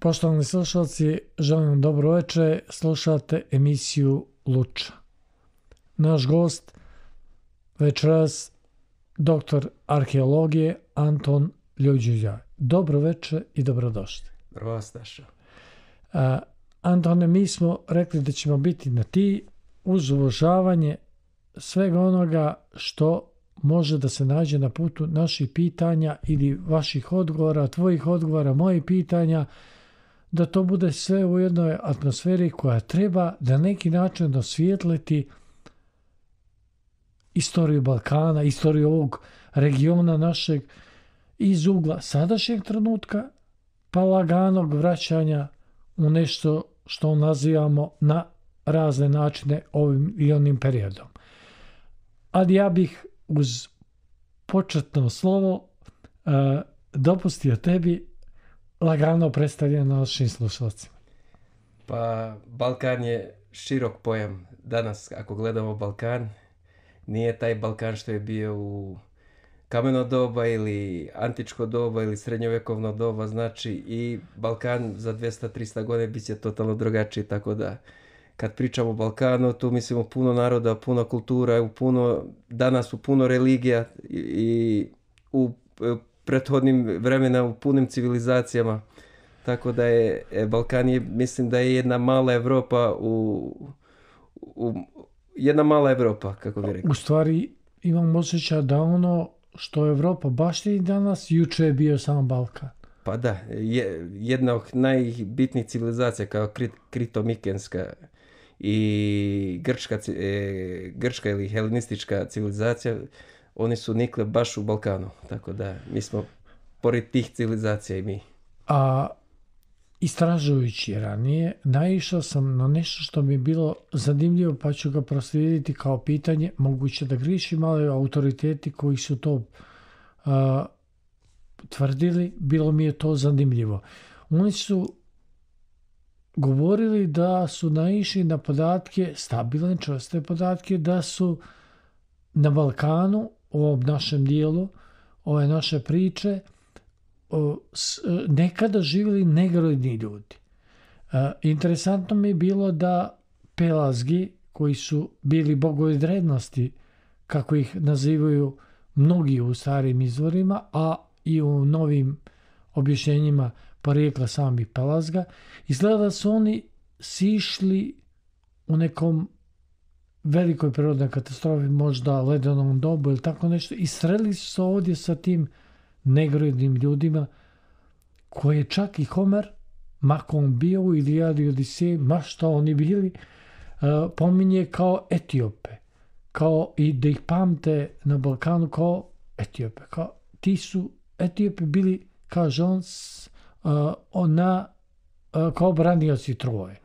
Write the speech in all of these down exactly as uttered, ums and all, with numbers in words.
Poštovani slušalci, želim vam dobro večer, slušate emisiju Luča. Naš gost večeras doktor arheologije Anton Ljuđiđa. Dobro večer i dobrodošli. Dobro vas našao. Antone, mi smo rekli da ćemo biti na ti uz uvažavanje svega onoga što može da se nađe na putu naših pitanja ili vaših odgovora, tvojih odgovora, mojih pitanja, da to bude sve u jednoj atmosferi koja treba da neki način osvijetliti istoriju Balkana, istoriju ovog regiona našeg iz ugla sadašnjeg trenutka pa laganog vraćanja u nešto što nazivamo na razne načine ovim i onim periodom. Ali ja bih uz početno slovo uh, dopustio tebi lagano predstavljanje našim slušalcima. Pa Balkan je širok pojam. Danas ako gledamo Balkan, nije taj Balkan što je bio u kameno doba ili antičko doba ili srednjovjekovno doba, znači i Balkan za dvjesto do trista godina bit će totalno drugačiji, tako da kad pričamo o Balkanu, tu mislimo puno naroda, puno kultura, u puno, danas u puno religija i u prethodnim vremena u punim civilizacijama. Tako da je Balkan je, mislim da je jedna mala Evropa u, u jedna mala Evropa, kako bi rekao. U stvari imam osjećaj da ono što Evropa baštini danas, juče je bio samo Balkan. Pa da, je, jedna od najbitnijih civilizacija kao Krit, Krito-Mikenska i grčka, e, grčka ili helenistička civilizacija, oni su nikle baš u Balkanu, tako da mi smo pored tih civilizacija i mi. A istražujući ranije, naišao sam na nešto što mi je bilo zanimljivo, pa ću ga proslijediti kao pitanje, moguće da grišim, ali autoriteti koji su to uh, tvrdili, bilo mi je to zanimljivo. Oni su govorili da su naišli na podatke, stabilne, čvrste podatke, da su na Balkanu, u ovom našem dijelu, ove naše priče, nekada živjeli negroidni ljudi. Interesantno mi je bilo da Pelazgi, koji su bili bogovi drevnosti, kako ih nazivaju mnogi u starim izvorima, a i u novim objašnjenjima porijekla samih Pelazga, izgleda da su oni sišli u nekom velikoj prirodnoj katastrofi, možda ledenom dobu ili tako nešto, i sreli su se ovdje sa tim negroidnim ljudima koje čak i Homer, makom bio u Ilijadi i Odiseji, ma što oni bili, uh, pominje kao Etiope, kao i da ih pamte na Balkanu kao Etiope. Kao, ti su Etiope bili, kaže on, uh, ona, uh, kao branioci Troje.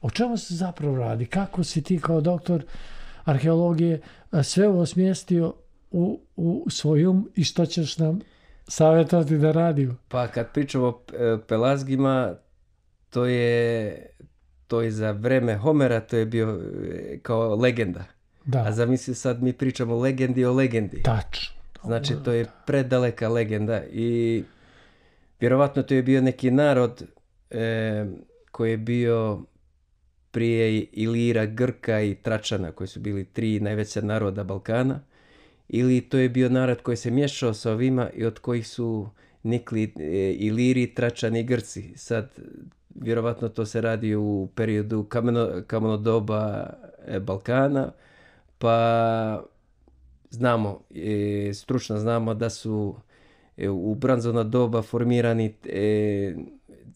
O čemu se zapravo radi? Kako si ti kao doktor arheologije uh, sve ovo smjestio u, u svojum i što ćeš nam savjetovati da radimo? Pa kad pričamo o Pelazgima, to je, to je za vreme Homera, to je bio kao legenda. Da. A zamisli sad mi pričamo o legendi o legendi. Tačno. Znači to je predaleka legenda i vjerovatno to je bio neki narod e, koji je bio prije Ilira, Grka i Tračana, koji su bili tri najveća naroda Balkana. Ili to je bio narod koji se miješao sa ovima i od kojih su nikli e, Iliri, Tračani i Grci. Sad, vjerovatno to se radi u periodu kameno, kameno doba e, Balkana, pa znamo, e, stručno znamo da su e, u bronzano doba formirani e,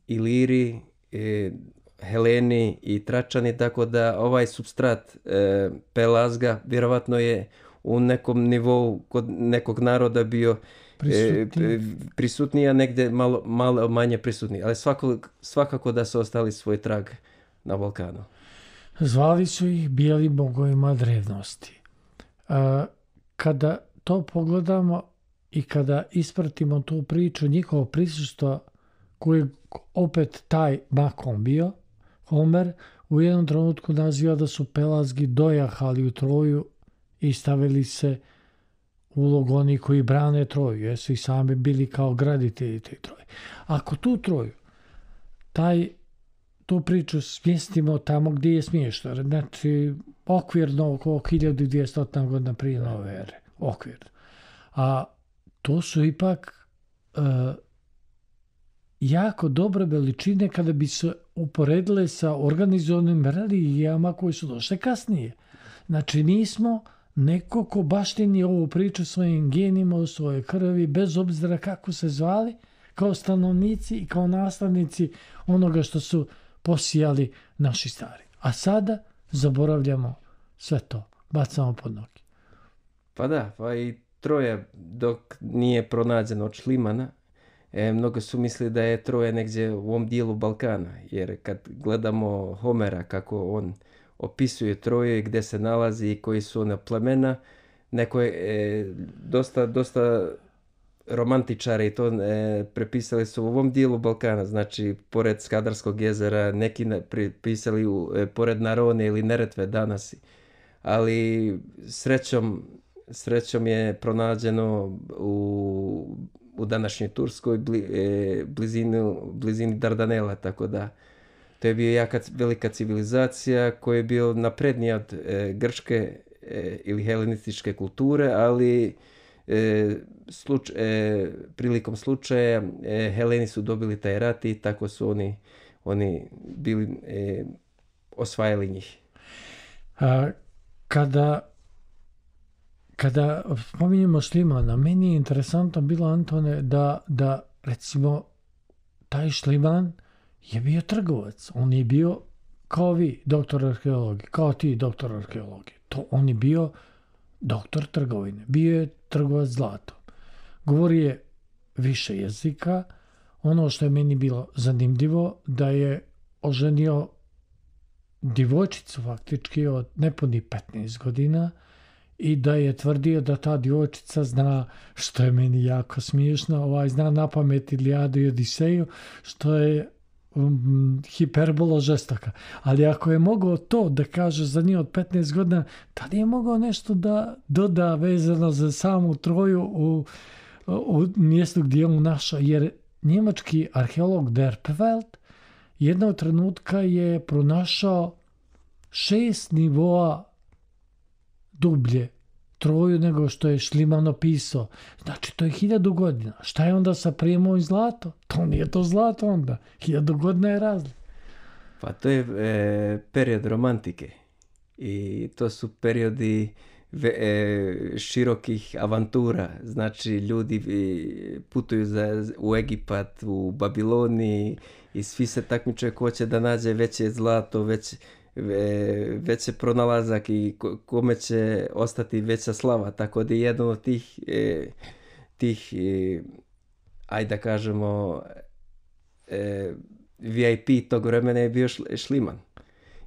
Iliri, e, Heleni i Tračani, tako da ovaj substrat e, Pelazga vjerovatno je u nekom nivou kod nekog naroda bio prisutniji, e, prisutniji a negdje malo, malo manje prisutniji. Ali svako, svakako da su ostali svoj trag na Balkanu. Zvali su ih bijeli bogovima drevnosti. A, kada to pogledamo i kada ispratimo tu priču, njihovo prisustvo koje opet taj makom bio, Homer, u jednom trenutku naziva da su Pelazgi dojahali u Troju i stavili se ulog oni koji brane Troju, jer su i sami bili kao graditelji te Troje. Ako tu Troju taj, tu priču smjestimo tamo gdje je smiješno. Znači, okvirno oko hiljadu dvjesto godina prije nove ere. Okvirno. A to su ipak uh, jako dobre veličine kada bi se uporedile sa organizovanim religijama koji su došle kasnije. Znači, nismo neko ko baštini ovu priču svojim genima u svojoj krvi, bez obzira kako se zvali, kao stanovnici i kao nastavnici onoga što su posijali naši stari. A sada zaboravljamo sve to, bacamo pod noge. Pa da, pa i Troja dok nije pronađeno od Šlimana, e, mnogo su mislili da je Troja negdje u ovom dijelu Balkana, jer kad gledamo Homera kako on opisuje Troju i gdje se nalazi i koji su ona plemena, neko je e, dosta, dosta romantičari to e, prepisali su u ovom dijelu Balkana, znači pored Skadarskog jezera, neki prepisali u, e, pored Narone ili Neretve danas, ali srećom, srećom je pronađeno u, u današnjoj Turskoj bli, e, blizini, blizini Dardanela, tako da to je bio jaka velika civilizacija koja je bio naprednija od e, grčke e, ili helenističke kulture, ali e, sluč, e, prilikom slučaja e, Heleni su dobili taj rat i tako su oni, oni bili e, osvajali njih. A, kada kada spominjemo Šlimana, meni je interesantno bilo, Antone, da, da recimo taj Šliman je bio trgovac. On je bio kao vi, doktor arheologije, kao ti, doktor arheologije. To on je bio doktor trgovine. Bio je trgovac zlatom. Govori je više jezika. Ono što je meni bilo zanimljivo, da je oženio djevojčicu faktički od nepunih petnaest godina i da je tvrdio da ta djevojčica zna, što je meni jako smiješno, ovaj, zna na pamet Ilijadu i Odiseju, što je um, hiperbolo žestoka. Ali ako je mogao to da kaže za nje od petnaest godina, tad je mogao nešto da doda vezano za samu Troju u, u mjestu gdje je on našao. Jer njemački arheolog Derpfeld jednog trenutka je pronašao šest nivoa dublje Troju nego što je Šliman opisao. Znači, to je hiljadu godina. Šta je onda sa prijemom i zlato? To nije to zlato onda. Hiljadu godina je razlika. Pa to je e, period romantike. I to su periodi ve, e, širokih avantura. Znači, ljudi e, putuju za, u Egipat, u Babiloniji i svi se takmiče ko će da nađe veće zlato, već veće pronalazak i kome će ostati veća slava, tako da je jedan od tih e, tih e, ajde da kažemo e, V I P tog vremena je bio Šliman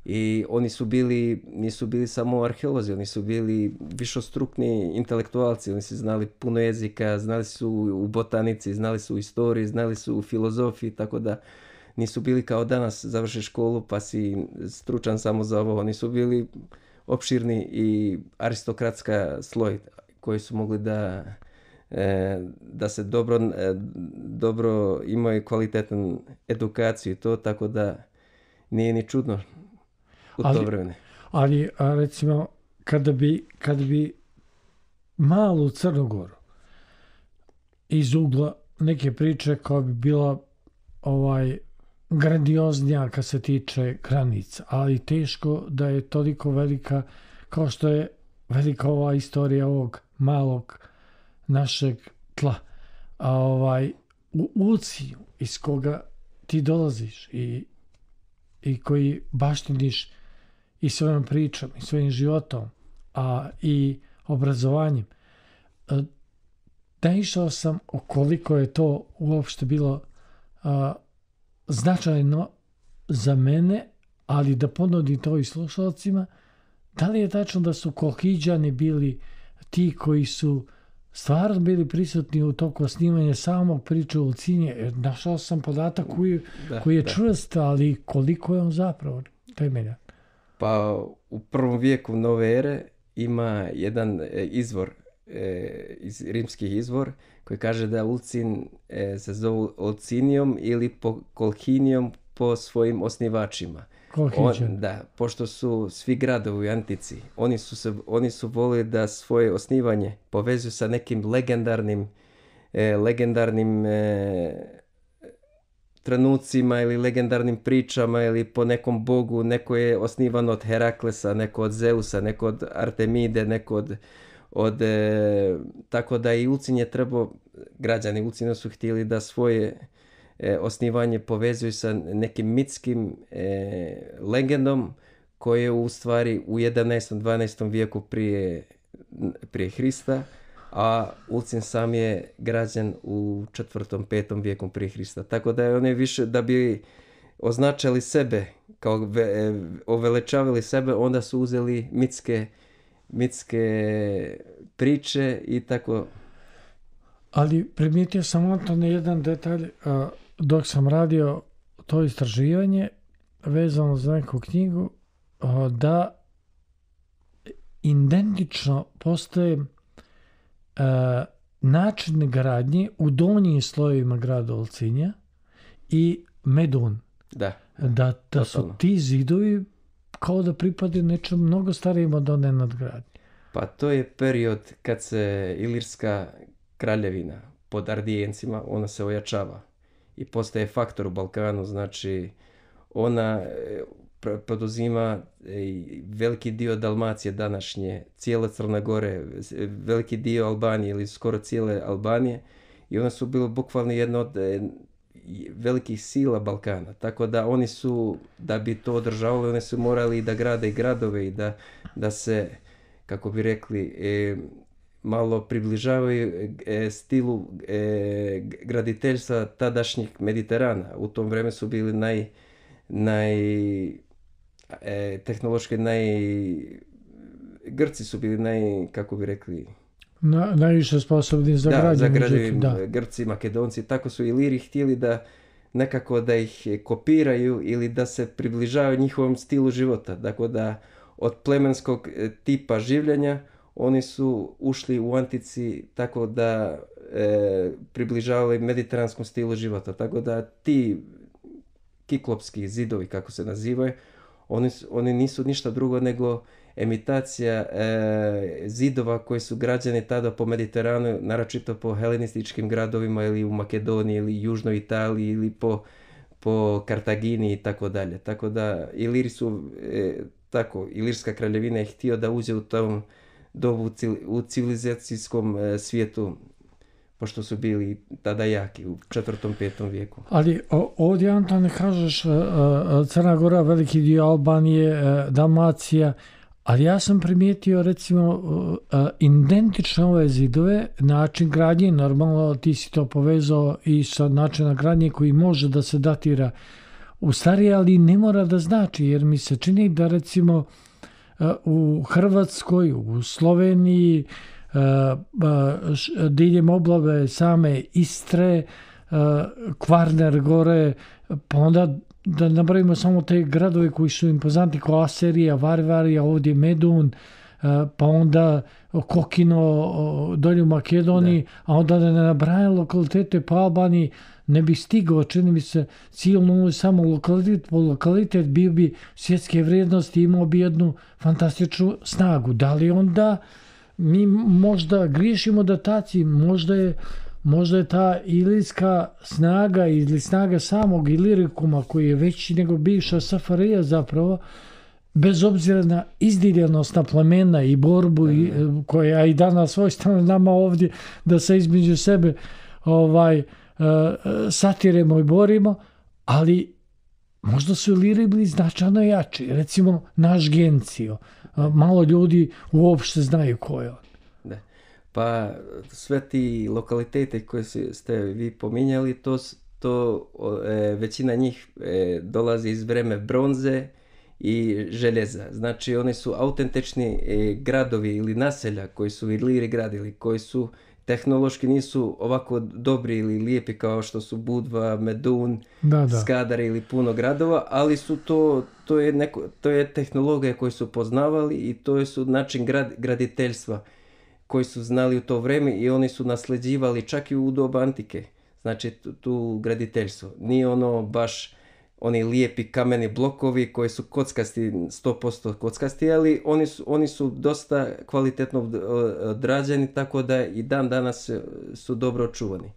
i oni su bili, nisu bili samo arheolozi, oni su bili višostrukni intelektualci, oni su znali puno jezika, znali su u botanici, znali su u istoriji, znali su u filozofiji, tako da nisu bili kao danas završi školu pa si stručan samo za ovo. Oni su bili opširni i aristokratska sloj koji su mogli da, e, da se dobro, e, dobro imaju kvalitetnu edukaciju i to, tako da nije ni čudno u ali, to vremene. Ali a recimo kada bi, kada bi malu Crnogoru iz ugla neke priče koja bi bila ovaj grandioznija kad se tiče granica, ali teško da je toliko velika kao što je velika ova istorija ovog malog našeg tla. A ovaj, u Ulciju iz koga ti dolaziš i, i koji baštiniš i svojom pričom i svojim životom, a i obrazovanjem, naišao sam o koliko je to uopšte bilo a, značajno za mene, ali da ponudim to i slušalcima. Da li je tačno da su Kolhidžani bili ti koji su stvarno bili prisutni u toku snimanja samog priče u Ulcinje? Našao sam podatak koji, da, koji je da. čvrst, ali koliko je on zapravo temeljan? Pa u prvom vijeku nove ere ima jedan izvor, e, iz rimskih izvor, koji kaže da Ulcin e, se zove Ulcinijom ili po Kolhinijom po svojim osnivačima. On, da, pošto su svi gradovi u antici, oni su, se, oni su volili da svoje osnivanje povezuju sa nekim legendarnim, e, legendarnim e, trenucima ili legendarnim pričama ili po nekom bogu. Neko je osnivan od Heraklesa, neko od Zeusa, neko od Artemide, neko od... od e, tako da i Ulcinj je trebao, građani Ulcinja su htjeli da svoje e, osnivanje povezuju sa nekim mitskim e, legendom koje je u stvari u jedanaestom dvanaestom vijeku prije, prije Hrista, a Ulcinj sam je građen u četvrtom petom vijeku prije Hrista. Tako da je oni više, da bi označili sebe, kao ve, oveličavali sebe, onda su uzeli mitske mitske priče i tako. Ali primijetio sam Antone jedan detalj a, dok sam radio to istraživanje vezano za neku knjigu, a, da identično postoje a, način gradnje u donjim slojevima grada Ulcinja i Medun. Da, da, da su ti zidovi kao da pripadaju nečem mnogo starijem od one nadgradnje. Pa to je period kad se Ilirska kraljevina pod Ardijencima, ona se ojačava i postaje faktor u Balkanu, znači ona poduzima veliki dio Dalmacije današnje, cijele Crne Gore, veliki dio Albanije ili skoro cijele Albanije i ona su bili bukvalno jedna od velikih sila Balkana, tako da oni su, da bi to održavali, oni su morali da grade i gradove i da, da se, kako bi rekli, e, malo približavaju e, stilu e, graditeljstva tadašnjih Mediterana. U tom vremenu su bili naj, naj e, tehnološki naj, Grci su bili naj, kako bi rekli, Na, najviše sposobni za da, gradnje. Za gradnje Grci, Makedonci, tako su Iliri htjeli da nekako da ih kopiraju ili da se približavaju njihovom stilu života. Dakle, da od plemenskog tipa življenja oni su ušli u antici tako da e, približavali mediteranskom stilu života. Tako da ti kiklopski zidovi, kako se nazivaju, oni, oni nisu ništa drugo nego imitacija e, zidova koji su građeni tada po Mediteranu, naročito po helenističkim gradovima ili u Makedoniji ili Južnoj Italiji ili po, po Kartagini i tako dalje. Tako da Iliri su, e, tako, Ilirska kraljevina je htio da uđe u tom dobu u civilizacijskom e, svijetu, pošto su bili tada jaki u četvrtom, petom vijeku. Ali o, ovdje, Antone, kažeš Crna Gora, veliki dio Albanije, Dalmacija, ali ja sam primijetio, recimo, identične ove zidove, način gradnje, normalno ti si to povezao i sa načinom gradnje koji može da se datira u starije, ali ne mora da znači, jer mi se čini da, recimo, u Hrvatskoj, u Sloveniji, diljem oblave same Istre, Kvarner gore, pa onda da napravimo samo te gradove koji su impozantni kao Aserija, Varvarija, ovdje Medun, pa onda Kokino dolje u Makedoniji, da. A onda da ne nabrajam lokalitete po Albaniji, ne bi stigao, čini mi se, cijelno samo lokalitet po lokalitet bio bi svjetske vrijednosti, imao bi jednu fantastičnu snagu. Da li onda mi možda griješimo dataciji, možda je Možda je ta ilirska snaga ili snaga samog Ilirikuma koji je veći nego bivša S F R J zapravo, bez obzira na izdiljenost na plemena i borbu i, koja i danas svojstveno nama ovdje da se između sebe ovaj, satiremo i borimo, ali možda su Iliri bili značajno jači. Recimo naš Gencio, malo ljudi uopšte znaju ko je on. Pa sve ti lokalitete koje ste vi pominjali, to, to e, većina njih e, dolazi iz vreme bronze i željeza. Znači oni su autentični e, gradovi ili naselja koji su Iliri gradili, koji su tehnološki nisu ovako dobri ili lijepi kao što su Budva, Medun, da, da. Skadar ili puno gradova, ali su to, to, je neko, to je tehnologija koju su poznavali i to je su način grad, graditeljstva koji su znali u to vrijeme i oni su nasljeđivali čak i u doba antike, znači tu, tu graditeljstvo. Nije ono baš oni lijepi kameni blokovi koji su kockasti, sto posto kockasti, ali oni su, oni su dosta kvalitetno odrađeni, tako da i dan danas su dobro očuvani.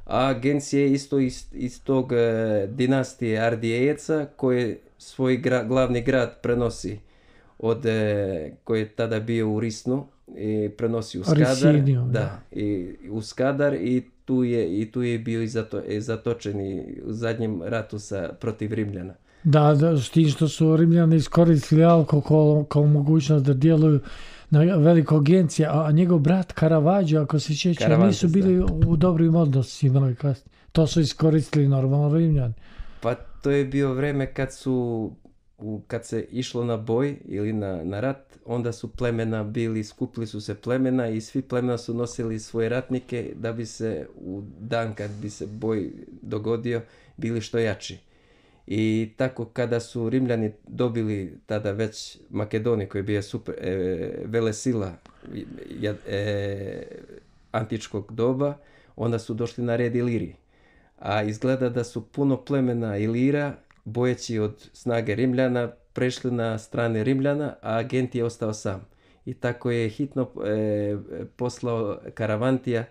A agencije isto iz, iz tog e, dinastije Ardijejeca koje svoj gra, glavni grad prenosi od, e, koji je tada bio u Risnu i prenosi u Skadar. Risiniju, da, da. I u Skadar i tu je, i tu je bio i zato, i zatočen i u zadnjem ratu sa, protiv Rimljana. Da, da, s tim što su Rimljani iskoristili alkohol kao mogućnost da djeluju na veliko agencije, a njegov brat Caravaggio, ako se sjeća, nisu bili u dobrim odnosima. To su iskoristili normalno Rimljani. Pa to je bio vreme kad su, kad se išlo na boj ili na, na rat, onda su plemena bili, skupili su se plemena i svi plemena su nosili svoje ratnike da bi se u dan kad bi se boj dogodio bili što jači. I tako kada su Rimljani dobili tada već Makedoniju koja je bila super e, velesila e, antičkog doba, onda su došli na red Iliri. A izgleda da su puno plemena Ilira, bojeći od snage Rimljana, prešli na strane Rimljana, a agent je ostao sam. I tako je hitno e, poslao Karavantija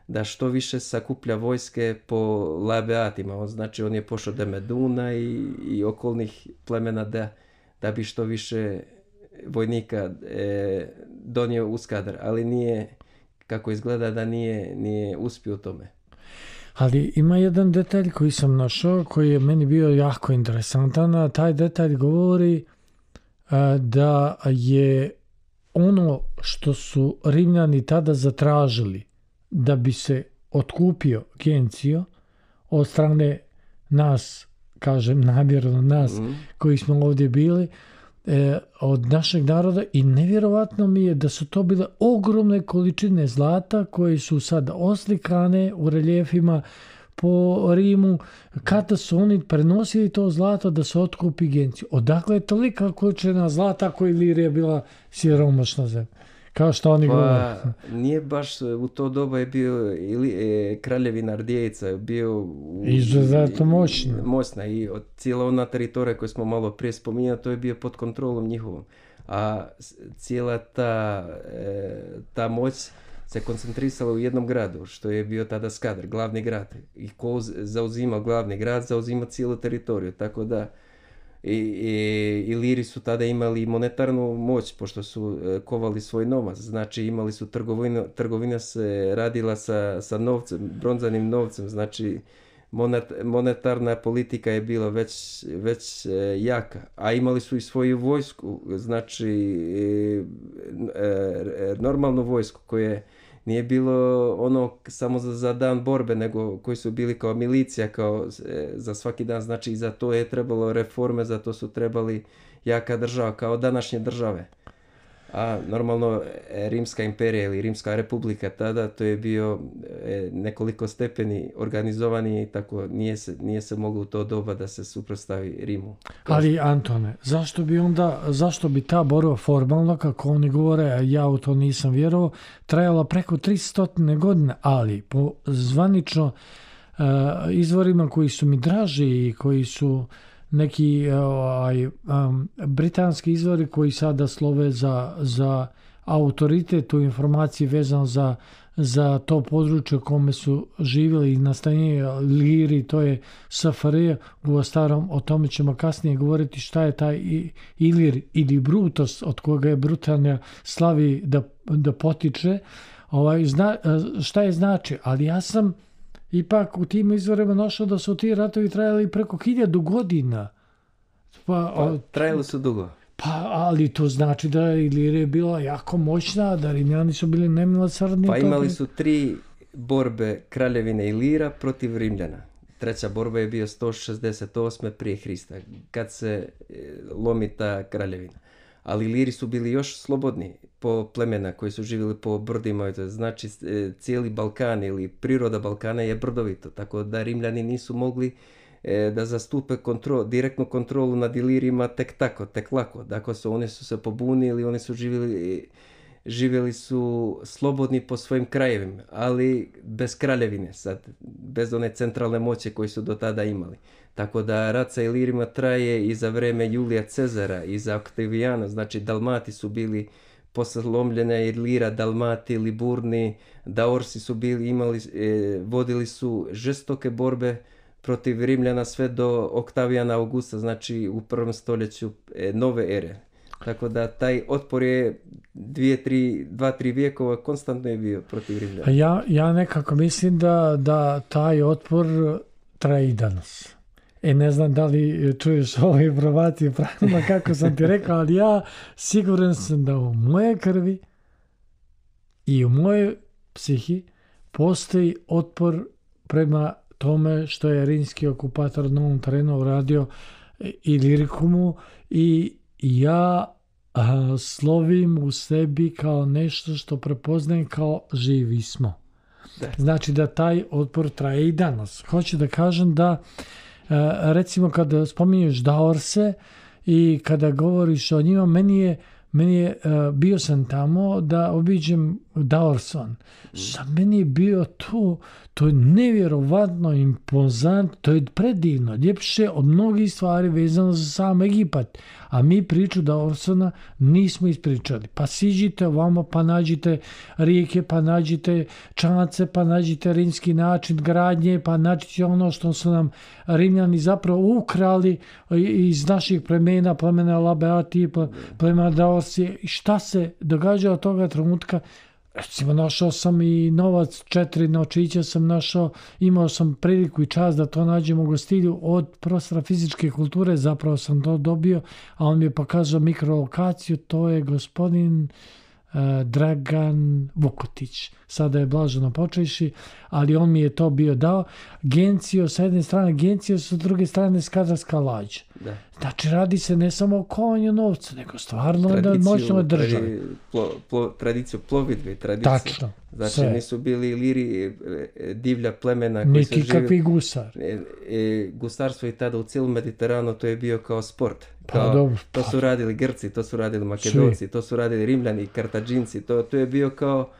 da što više sakuplja vojske po Labeatima. On, znači on je pošao do Meduna i, i okolnih plemena da, da bi što više vojnika e, donio u Skadar. Ali nije, kako izgleda da nije, nije uspio u tome. Ali ima jedan detalj koji sam našao, koji je meni bio jako interesantan, a taj detalj govori a, da je ono što su Rimljani tada zatražili da bi se otkupio Gencio od strane nas, kažem namjerno nas, mm. koji smo ovdje bili, e, od našeg naroda, i nevjerovatno mi je da su to bile ogromne količine zlata koje su sad oslikane u reljefima po Rimu, kada su oni prenosili to zlato da se otkupi Gencio. Odakle je tolika količina zlata koja Ilirija bila siromašna zemlja? Kao što oni pa, govore. Nije baš u to doba je bio ili, e, kraljevina Ardijejica bio u, izuzetno moćna. moćna i od cijela ona teritorija koju smo malo prije spominjali, to je bio pod kontrolom njihovom. A cijela ta, e, ta moć se koncentrisala u jednom gradu, što je bio tada Skadar, glavni grad. I ko zauzima glavni grad, zauzima cijelu teritoriju, tako da I, i, Iliri su tada imali monetarnu moć, pošto su e, kovali svoj novac, znači imali su trgovinu, trgovina se radila sa, sa novcem, bronzanim novcem, znači monet, monetarna politika je bila već, već e, jaka, a imali su i svoju vojsku, znači e, e, normalnu vojsku koje nije bilo ono samo za, za dan borbe, nego koji su bili kao milicija, kao e, za svaki dan. Znači i za to je trebalo reforme, za to su trebali jaka država, kao današnje države. A normalno e, Rimska imperija ili Rimska republika tada, to je bio e, nekoliko stepeni organizovani, tako nije se, nije se moglo u to doba da se suprotstavi Rimu. Ali Antone, zašto bi onda, zašto bi ta borba formalno, kako oni govore, a ja u to nisam vjerovao, trajala preko tristo godina, ali po zvanično uh, izvorima koji su mi draži i koji su neki uh, um, britanski izvori koji sada slove za, za autoritet u informaciji vezano za, za to područje kome su živjeli i nastanjeni Iliri, to je S F R J, u starom, o tome ćemo kasnije govoriti šta je taj Ilir ili Brutus, od koga je Britanija slavi da, da potiče, ovaj, zna, šta je znači, ali ja sam ipak u tim izvorima našao da su ti ratovi trajali preko hiljadu godina. Pa, pa trajali su dugo. Pa, ali to znači da Ilirija je bila jako moćna, da Rimljani su bili nemilosrdni. Pa imali su tri borbe kraljevine Ilira protiv Rimljana. Treća borba je bio sto šezdeset osme prije Hrista, kad se lomi ta kraljevina. Ali Iliri su bili još slobodni po plemena koji su živjeli po brdima. Znači cijeli Balkan ili priroda Balkana je brdovito, tako da Rimljani nisu mogli da zastupe kontrol, direktnu kontrolu nad Ilirima tek tako, tek lako. Dakle, su, oni su se pobunili, oni su živjeli živjeli su slobodni po svojim krajevima, ali bez kraljevine, sad, bez one centralne moći koje su do tada imali. Tako da rat sa Ilirima traje i za vreme Julija Cezara i za Oktavijana, znači Dalmati su bili poslomljene, Ilira, Dalmati, Liburni, Daorsi su bili, imali, e, vodili su žestoke borbe protiv Rimljana sve do Oktavijana Augusta, znači u prvom stoljeću e, nove ere. Tako da taj otpor je dvije, tri, dva, tri vijekova konstantno je bio protiv Rimljana. Ja, ja nekako mislim da, da taj otpor traje i danas. E, ne znam da li čuješ ove informacije pravilno kako sam ti rekao, ali ja siguran sam da u moje krvi i u moje psihi postoji otpor prema tome što je rimski okupator na ovom terenu uradio Ilirikumu i ja a, slovim u sebi kao nešto što prepoznajem kao živi smo. Da. Znači da taj otpor traje i danas. Hoću da kažem da a, recimo kada spominješ Daorse i kada govoriš o njima, meni je, meni je a, bio sam tamo da obiđem Daorson. Sad meni je bio to, to je nevjerovatno impozant, to je predivno, ljepše od mnogih stvari vezano za sam Egipat. A mi priču Daorsona nismo ispričali. Pa siđite ovamo, pa nađite rijeke, pa nađite čance, pa nađite rimski način gradnje, pa nađite ono što su nam Rimljani zapravo ukrali iz naših plemena, plemena Labeati, plemena Daorsi. Šta se događa od toga trenutka? Recimo, našao sam i novac, četiri nočića sam našao, imao sam priliku i čast da to nađem u gostilju od profesora fizičke kulture, zapravo sam to dobio, a on mi je pokazao mikrolokaciju, to je gospodin uh, Dragan Vukotić, sada je blaženo počeši, ali on mi je to bio dao. Gencio, sa jedne strane Gencio, sa druge strane Skadarska lađa. Da. Znači, radi se ne samo o kovanju novca, nego stvarno tradiciju, da moćno državi. Plo, plo, tradiciju plovidbe, tradiciju. Tačno. Znači, sve. nisu bili Iliri divlja plemena koji Niki su živjeli. Kakvi gusar. E, e, gusarstvo i tada u cijelom Mediteranu to je bio kao sport. Kao, pa dobro. To su radili Grci, to su radili Makedonci, svi. To su radili Rimljani, Kartađinci. To, to je bio kao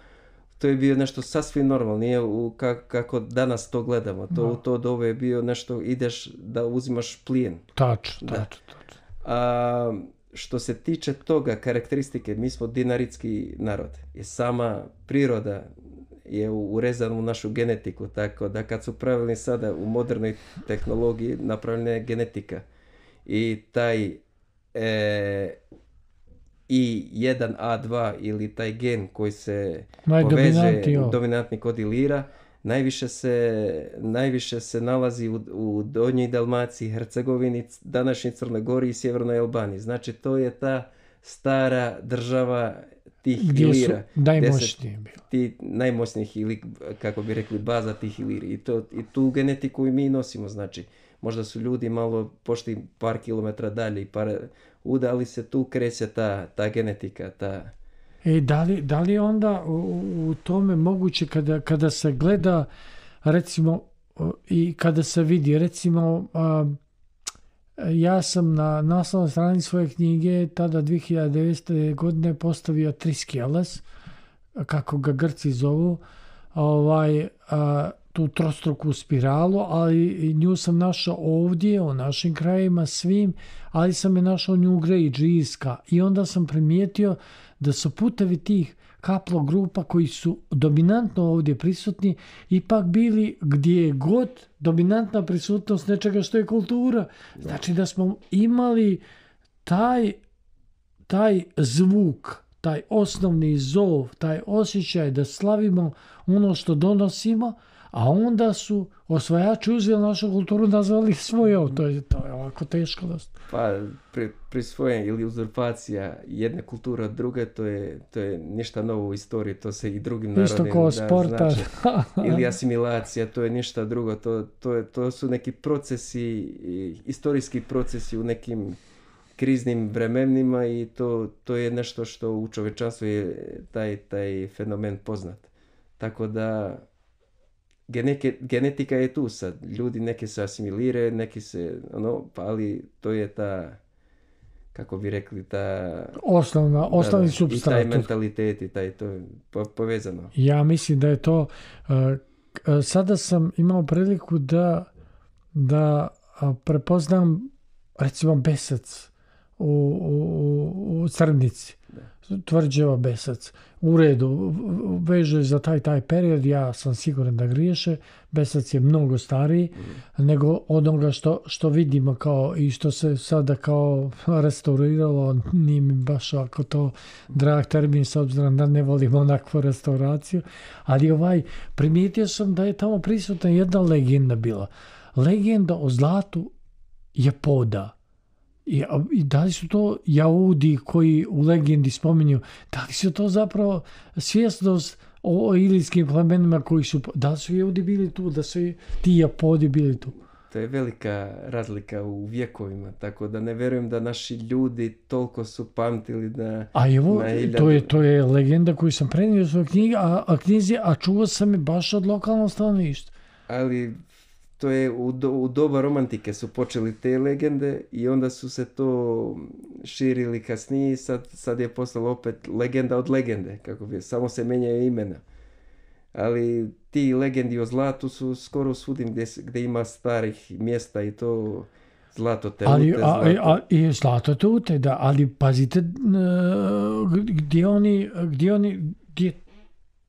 To je bio nešto sasvim normalno, nije u, kako, kako danas to gledamo. To, no. to dobe je bio nešto, ideš da uzimaš plijen. Tačno, tačno, tačno. A što se tiče toga, karakteristike, mi smo dinaritski narod. I sama priroda je urezana u našu genetiku, tako da kad su pravili sada u modernoj tehnologiji, napravljena je genetika. I taj e, I jedan A dva ili taj gen koji se poveže, dominantni kod Ilira, najviše se, najviše se nalazi u, u Donjoj Dalmaciji, Hercegovini, današnjoj Crnoj Gori i Sjevernoj Albaniji. Znači to je ta stara država tih gdje Ilira. Su najmoćniji bili. Ti najmoćnijih ili, kako bi rekli, baza tih Iliri. I, to, i tu genetiku i mi nosimo, znači. Možda su ljudi malo pošli par kilometra dalje i par udali se, tu kreće ta, ta genetika. Ta... E, da li, da li onda u, u tome moguće kada, kada se gleda, recimo, i kada se vidi, recimo, a, ja sam na naslovnoj strani svoje knjige tada dvije hiljade devete. godine postavio Triskeles, kako ga Grci zovu, ovaj, a, tu trostruku spiralu, ali nju sam našao ovdje, u našim krajima svim, ali sam je našao Njugre i Džijska. I onda sam primijetio da su putevi tih kaplogrupa koji su dominantno ovdje prisutni, ipak bili gdje je god dominantna prisutnost nečega što je kultura. Znači da smo imali taj, taj zvuk, taj osnovni zov, taj osjećaj da slavimo ono što donosimo, a onda su osvajači uzeli našu kulturu, nazvali svojom. To je, to je ovako teško. Pa pri, prisvojen ili uzurpacija jedne kulture od druge, to je, to je ništa novo u istoriji, to se i drugim narodima isto kao sporta. Znači, ili asimilacija, to je ništa drugo. To, to, je, to su neki procesi, istorijski procesi u nekim kriznim vremenima i to, to je nešto što u čovječanstvu je taj, taj fenomen poznat. Tako da Geneke, genetika je tu sad. Ljudi neki se asimiliraju, neki se, ono, pa ali to je ta, kako bi rekli, ta... Osnovna, osnovni da, da, supstrat. I taj mentalitet i taj, to je po, povezano. Ja mislim da je to... Uh, sada sam imao priliku da, da uh, prepoznam recimo besac u, u, u Crnici. Tvrđava besac. U redu, veže za taj taj period, ja sam siguran da griješe. Besac je mnogo stariji mm. nego onoga što, što vidimo kao i što se sada kao restauriralo. Nije mi baš ako to drag termin s obzirom da ne volim onakvu restauraciju. Ali ovaj, primijetio sam da je tamo prisutna jedna legenda bila. Legenda o zlatu Japoda. I, I da li su to Jaudi koji u legendi spominju, da li su to zapravo svjesnost o, o ilijskim plemenima koji su, da li su Jaudi bili tu, da su ti Japodi bili tu? To je velika razlika u vjekovima, tako da ne vjerujem da naši ljudi toliko su pamtili da... A evo, to je, to je legenda koju sam prenio u svojoj knjigi, a, a knjizi, a čuo sam je baš od lokalnog stanovništva. Ali... To je u, do, u doba romantike su počeli te legende i onda su se to širili kasnije. Sad, sad je postalo opet legenda od legende, kako bi, samo se menjaju imena. Ali ti legendi o zlatu su skoro svudim gdje, gdje ima starih mjesta i to zlato te ali, ute. A, a, i zlato te ute, da, ali pazite gdje oni, gdje oni, gdje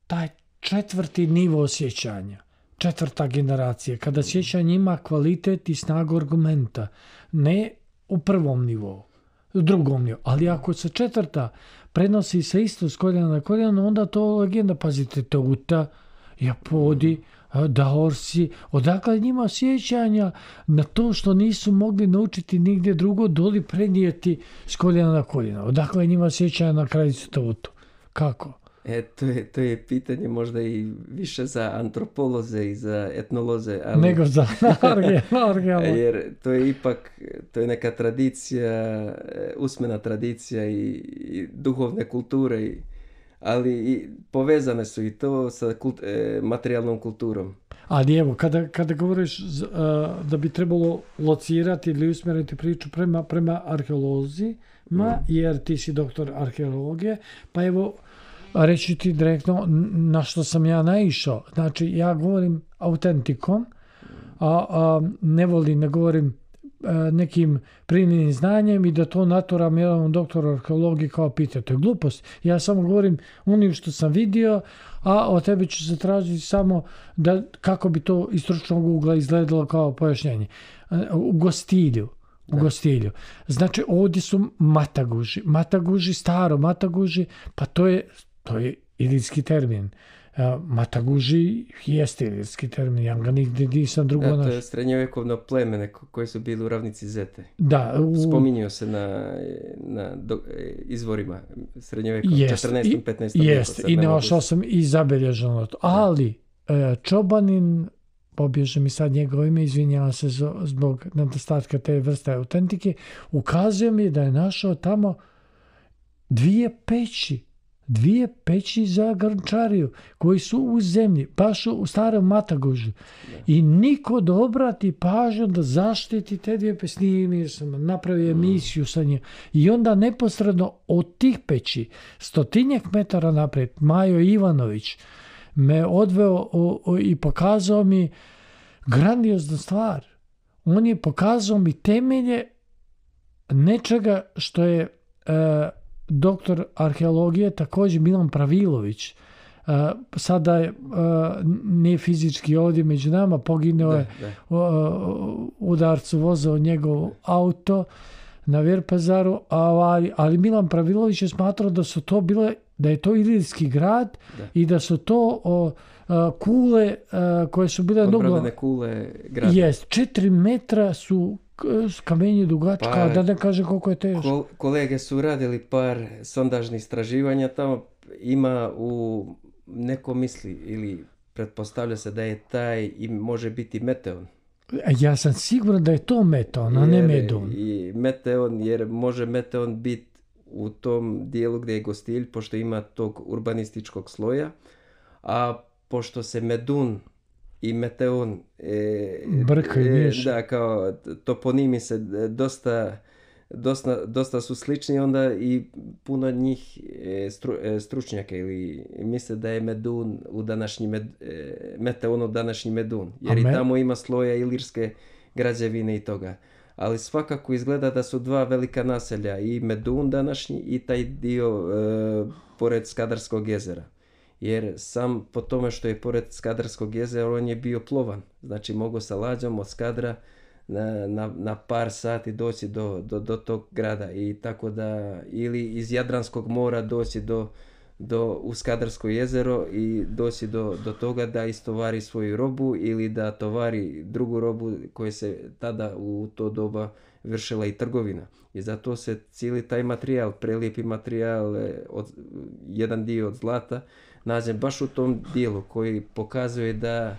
taj četvrti nivo osjećanja. Četvrta generacija, kada sjećanje ima kvalitet i snagu argumenta, ne u prvom nivou, u drugom nivou, ali ako se četvrta prenosi se isto s koljena na koljeno, onda to legenda, pazite, Teuta, Japodi, Daorsi, odakle njima sjećanja na to što nisu mogli naučiti nigdje drugo, doli prenijeti s koljena na koljeno, odakle njima sjećanja na kraljicu Teutu, kako? E, to je, to je pitanje možda i više za antropoloze i za etnoloze. Ali... Nego za arheologe. Jer to je ipak, to je neka tradicija, usmena tradicija i, i duhovne kulture, i, ali i povezane su i to sa kult, e, materijalnom kulturom. Ali evo, kada, kada govoriš uh, da bi trebalo locirati ili usmjeriti priču prema, prema arheolozima, mm. jer ti si doktor arheologije, pa evo, reći ti direktno na što sam ja naišao. Znači, ja govorim autentikom, a, a ne volim, ne govorim a, nekim primjenim znanjem i da to naturam jedan doktor arheologije kao pita. To je glupost. Ja samo govorim onim što sam vidio, a od tebe ću se tražiti samo da kako bi to iz stručnog ugla izgledalo kao pojašnjenje. U gostilju. U gostilju. Znači, ovdje su mataguži. Mataguži, staro mataguži, pa to je To je ilirski termin. Uh, mataguži jeste ilirski termin. Ja ga nigdje nisam drugo našao. Da, to je srednjovjekovno pleme koje su bili u ravnici Zete. Da. U... Spominjao se na, na do, izvorima srednjovjekovnog četrnaestom petnaestom Jeste, i našao sam i zabilježeno to. Ali uh, Čobanin, pobježe mi sad njegovo ime, izvinjava se zbog nedostatka te vrste autentike, ukazuje mi da je našao tamo dvije peći. Dvije peći za Grnčariju koji su u zemlji, baš u starom Matagužu. I niko da obrati pažnju da zaštiti te dvije peći. Snimio sam, napravio emisiju sa njim. I onda neposredno od tih peći, stotinjak metara naprijed, Majo Ivanović me odveo o, o, i pokazao mi grandioznu stvar. On je pokazao mi temelje nečega što je... E, doktor arheologije, također Milan Pravilović, uh, sada je uh, nije fizički ovdje među nama, poginuo je u uh, udarcu vozao njegov auto na Virpazaru, ali, ali Milan Pravilović je smatrao da su to bile, da je to ilirski grad da. I da su to uh, kule uh, koje su bile odbravene kule grada. Jest, četiri metra su kamenje dugačka, pa, da ne kaže koliko je teško. Kol, kolege su radili par sondažnih istraživanja tamo, ima u neko misli ili pretpostavlja se da je taj i može biti meteon. Ja sam siguran da je to meteon, a ne medun. I meteon, jer može meteon biti u tom dijelu gdje je Gostilj, pošto ima tog urbanističkog sloja, a pošto se medun i meteon e, Brkaj, e, da, kao toponimi se dosta dosta, dosta su slični, onda i puno njih stru, stručnjaka ili misle da je Medun u današnji med, Meteon u današnji Medun, jer Amen. I tamo ima sloja ilirske građevine i toga. Ali svakako izgleda da su dva velika naselja, i Medun današnji i taj dio e, pored Skadarskog jezera. Jer sam po tome što je pored Skadarskog jezera, on je bio plovan. Znači mogu sa lađom od Skadra na, na, na par sati doći do, do, do tog grada. I tako da, ili iz Jadranskog mora doći do, do, u Skadarsko jezero i doći do, do toga da istovari svoju robu ili da tovari drugu robu koja se tada u to doba vršila i trgovina. I zato se cijeli taj materijal, prelijepi materijal, od, jedan dio od zlata, nađe baš u tom dijelu koji pokazuje da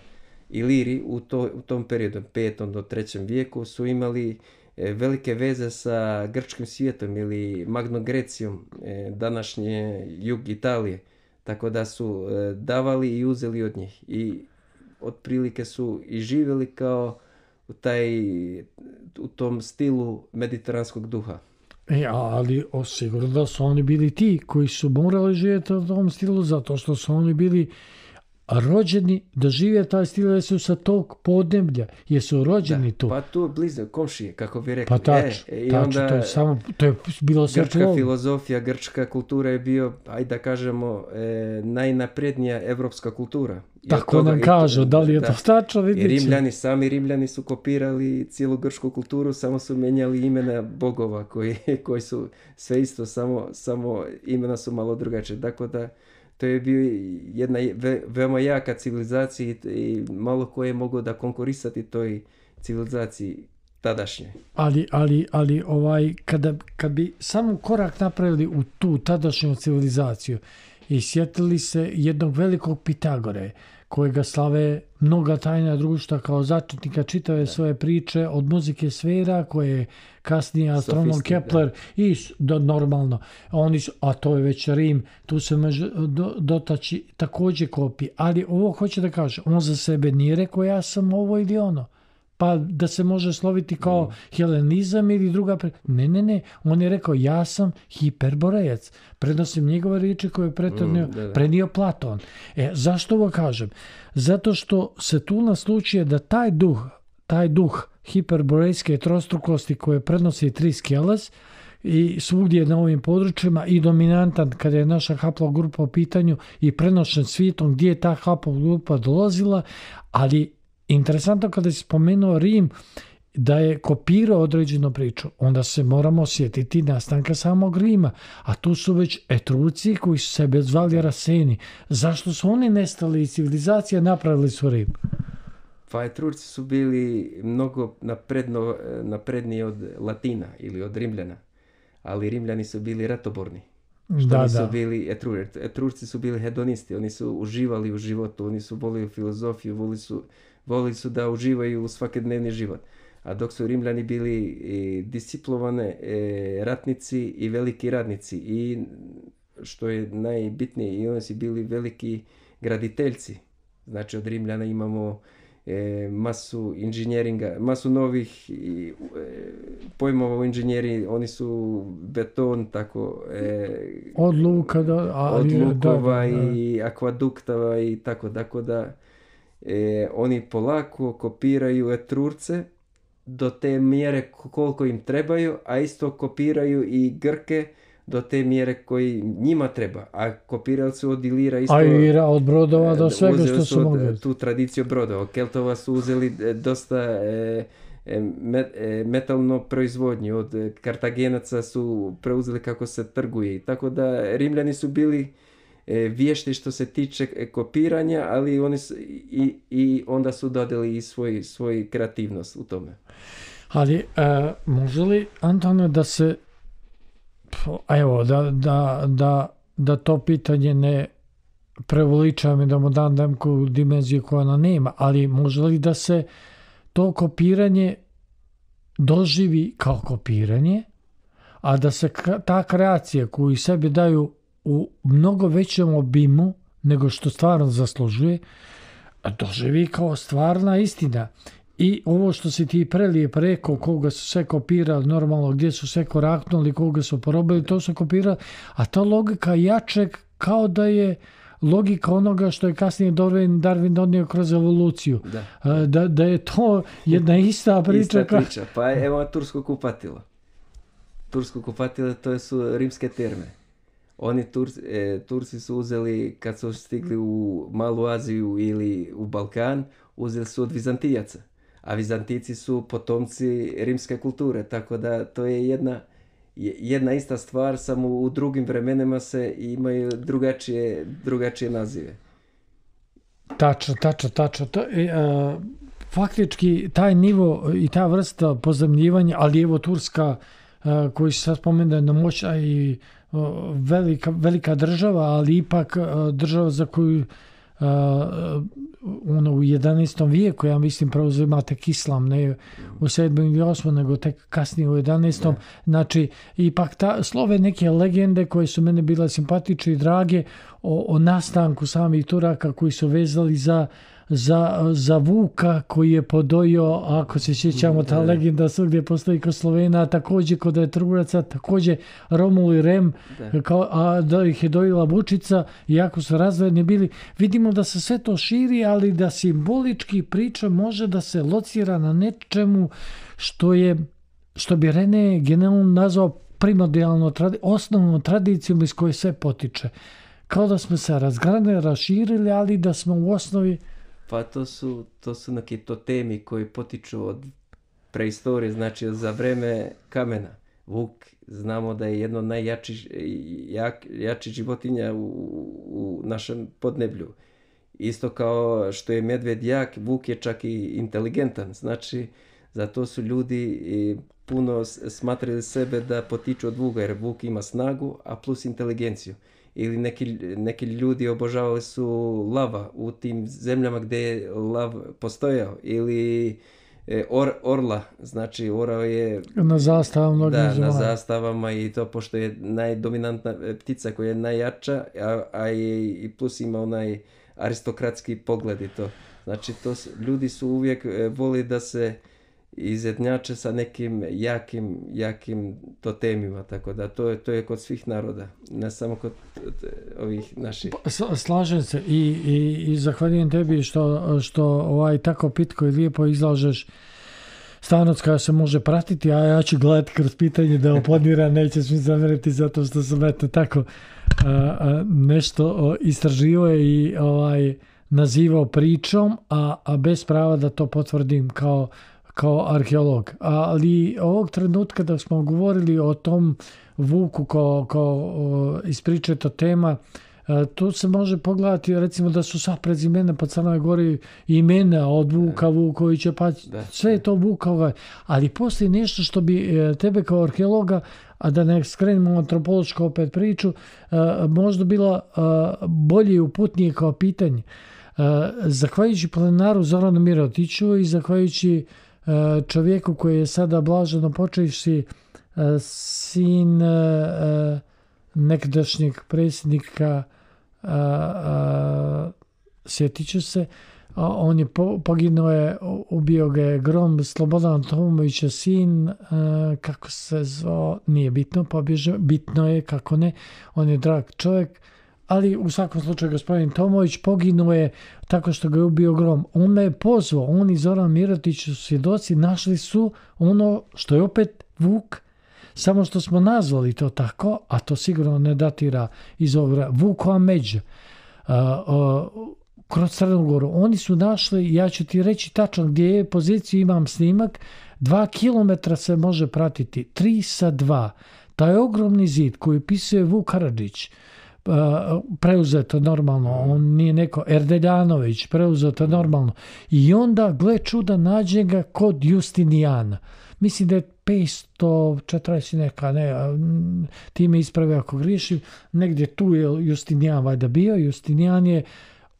Iliri u, to, u tom periodu, petom do trećem vijeku, su imali e, velike veze sa grčkim svijetom ili Magnom Grecijom, e, današnje jug Italije. Tako da su e, davali i uzeli od njih. I otprilike su i živjeli kao u, taj, u tom stilu mediteranskog duha. E, ali sigurno da su oni bili ti koji su morali živjeti u tom stilu, zato što su oni bili rođeni da žive taj stil, jer su sa tog podneblja, jer su rođeni da, tu. Pa tu blizu, komšije, kako bi rekli. Pa tač, e, tač, onda, to je samo, to je bilo sve grčka človo. Filozofija, grčka kultura je bio, ajde da kažemo, e, najnaprednija evropska kultura. I tako toga, nam kažu, to, da li je da, to tačno, vidjet će. Rimljani, sami Rimljani su kopirali cijelu grčku kulturu, samo su menjali imena bogova, koji, koji su sve isto, samo, samo imena su malo drugačije. Tako da, to je bio jedna ve, veoma jaka civilizacija i, i malo ko je mogao da konkurisati toj civilizaciji tadašnje. Ali, ali, ali ovaj, kada, kad bi samo korak napravili u tu tadašnju civilizaciju i sjetili se jednog velikog Pitagore, kojega slave mnoga tajna društva kao začetnika čitave da. Svoje priče od muzike sfera, koje je kasnije astronom Kepler da. I do, normalno. Oni su, a to je već Rim, tu se može do, dotaći također kopije. Ali ovo hoće da kaže, on za sebe nije rekao ja sam ovo ili ono. Pa da se može sloviti kao mm. helenizam ili druga... Pre... Ne, ne, ne. On je rekao ja sam hiperborejac. Prenosim njegove riječi koje je pretonio, mm, prenio Platon. E, zašto ovo kažem? Zato što se tu naslučuje da taj duh, taj duh hiperborejske trostrukosti koje prenosi Triskeles i svugdje na ovim područjima i dominantan kada je naša haplogrupa u pitanju i prenošen svijetom gdje je ta haplogrupa dolazila, ali interesantno kada je spomenuo Rim da je kopirao određenu priču, onda se moramo sjetiti nastanka samog Rima, a tu su već Etruci koji su sebe zvali Raseni. Zašto su oni nestali iz civilizacije, napravili su Rim? Pa Etruci su bili mnogo napredno, napredniji od Latina ili od Rimljana, ali Rimljani su bili ratoborni. Što da, nisu da. Bili Etruci. Etruci su bili hedonisti, oni su uživali u životu, oni su volili filozofiju, volili su Volili su da uživaju u svakodnevni život. A dok su Rimljani bili e, disciplovane e, ratnici i veliki radnici. I što je najbitnije, i oni su bili veliki graditeljci. Znači od Rimljana imamo e, masu inženjeringa, masu novih e, pojmova u inženjeri. Oni su beton, tako... E, od luka do... Od lukova da, da, da. I akvaduktava i tako, tako da... E, oni polako kopiraju Etrurce do te mjere koliko im trebaju, a isto kopiraju i Grke do te mjere koji njima treba. A kopirali su od Ilira isto... A Ilira od brodova do svega što su, su mogli. Tu tradiciju brodova. Keltova su uzeli dosta e, met, e, metalno proizvodnju. Od Kartagenaca su preuzeli kako se trguje. Tako da Rimljani su bili vješti što se tiče kopiranja, ali oni su, i, i onda su dodali i svoj, svoj kreativnost u tome. Ali e, može li, Antone, da se evo, da, da, da, da to pitanje ne preveličam i da mu dam neku dimenziju koja ona nema, ali može li da se to kopiranje doživi kao kopiranje, a da se ta kreacija koju sebi daju u mnogo većem obimu nego što stvarno zaslužuje, doživi kao stvarna istina. I ovo što si ti prelijep rekao, koga su sve kopirali, normalno gdje su sve koraknuli, koga su porobili, to su kopirali, a ta logika jačeg kao da je logika onoga što je kasnije Darwin, Darwin donio kroz evoluciju. Da. Da, da je to jedna ista priča. Ista priča. Pa evo tursko kupatilo. Tursko kupatilo to su rimske terme. Oni Turci, e, Turci su uzeli, kad su stigli u Malu Aziju ili u Balkan, uzeli su od Vizantijaca. A Vizantijci su potomci rimske kulture, tako da to je jedna, jedna ista stvar, samo u drugim vremenima se imaju drugačije, drugačije nazive. Tačno, tačno, tačno. To, e, a, faktički taj nivo i ta vrsta pozemljivanja, ali evo Turska, a, koji se sad spomene na moćna i a, velika, velika država, ali ipak a, država za koju Uh, ono u jedanaestom vijeku, ja mislim, preuzima tek islam, ne u sedmom ili osmom, nego tek kasnije u jedanaestom. Ne. Znači, ipak ta, slove neke legende koje su mene bile simpatične i drage o, o nastanku samih Turaka koji su vezali za Za, za Vuka koji je podojio, ako se sjećamo, ta legenda svugdje postoji kod Slovena, također kod Etrugaca, također Romul i Rem, kao, a da ih je dojila Vučica, iako su razvojeni bili. Vidimo da se sve to širi, ali da simbolički priča može da se locira na nečemu što je, što bi René generalno nazvao primordijalno, osnovnom tradicijom iz koje sve potiče. Kao da smo se razgranili, raširili, ali da smo u osnovi. Pa to su, to su neki totemi koji potiču od preistorije, znači za vreme kamena. Vuk, znamo da je jedno od najjačih jak, jači životinja u, u našem podneblju. Isto kao što je medved jak, vuk je čak i inteligentan. Znači, zato su ljudi puno smatrali sebe da potiču od vuka, jer vuk ima snagu, a plus inteligenciju. Ili neki, neki ljudi obožavali su lava u tim zemljama gdje je lav postojao. Ili e, or, orla, znači orao je na zastavama, da, na zastavama i to pošto je najdominantna ptica koja je najjača, a, a je, i plus ima onaj aristokratski pogled i to. Znači to, ljudi su uvijek voli da se izjednače sa nekim jakim, jakim totemima, tako da to je, to je kod svih naroda, ne samo kod ovih naših. Slažem se i, i, i zahvaljujem tebi što, što ovaj tako pitko i lijepo izlažeš stvarnost koja se može pratiti, a ja ću gledati kroz pitanje da oponiram, nećeš mi zamjeriti zato što sam eto tako a, a, nešto istraživao i ovaj, nazivao pričom, a, a bez prava da to potvrdim kao kao arheolog. Ali ovog trenutka da smo govorili o tom vuku kao, kao ispričeta tema, tu se može pogledati recimo da su sva prezimena po Crnoj Gori imena od Vuka, Vukovića, pa sve je to Vukova. Ali postoji nešto što bi tebe kao arheologa, a da ne skrenemo antropološku opet priču, možda bila bolje i uputnije kao pitanje. Zahvaljujući plenaru Zoranu Mirotiću i zahvaljujući čovjeku koji je sada blaženo počevši sin nekadašnjeg predsjednika, sjetit ću se, on je poginuo, je, ubio ga je grom, Slobodan Tomovića sin, kako se zvao, nije bitno, pobježao, bitno je kako ne, on je drag čovjek. Ali u svakom slučaju gospodin Tomović poginuo je tako što ga je ubio grom. On me je pozvao, on i Zoran Mirotić su svjedoci, našli su ono što je opet Vuk, samo što smo nazvali to tako, a to sigurno ne datira iz ovoga Vukova međa. Uh, uh, kroz Crnu Goru. Oni su našli, ja ću ti reći tačno gdje je poziciju, imam snimak, dva kilometra se može pratiti, tri sa dva. Taj ogromni zid koji pisuje Vuk Karadžić, preuzeto normalno, on nije neko Erdeljanović, preuzeto normalno, i onda gle čuda nađe ga kod Justinijana, mislim da je petsto četrdeset neka, ne, ti me ispravi ako griješim, negdje tu je Justinijan valjda bio. Justinijan je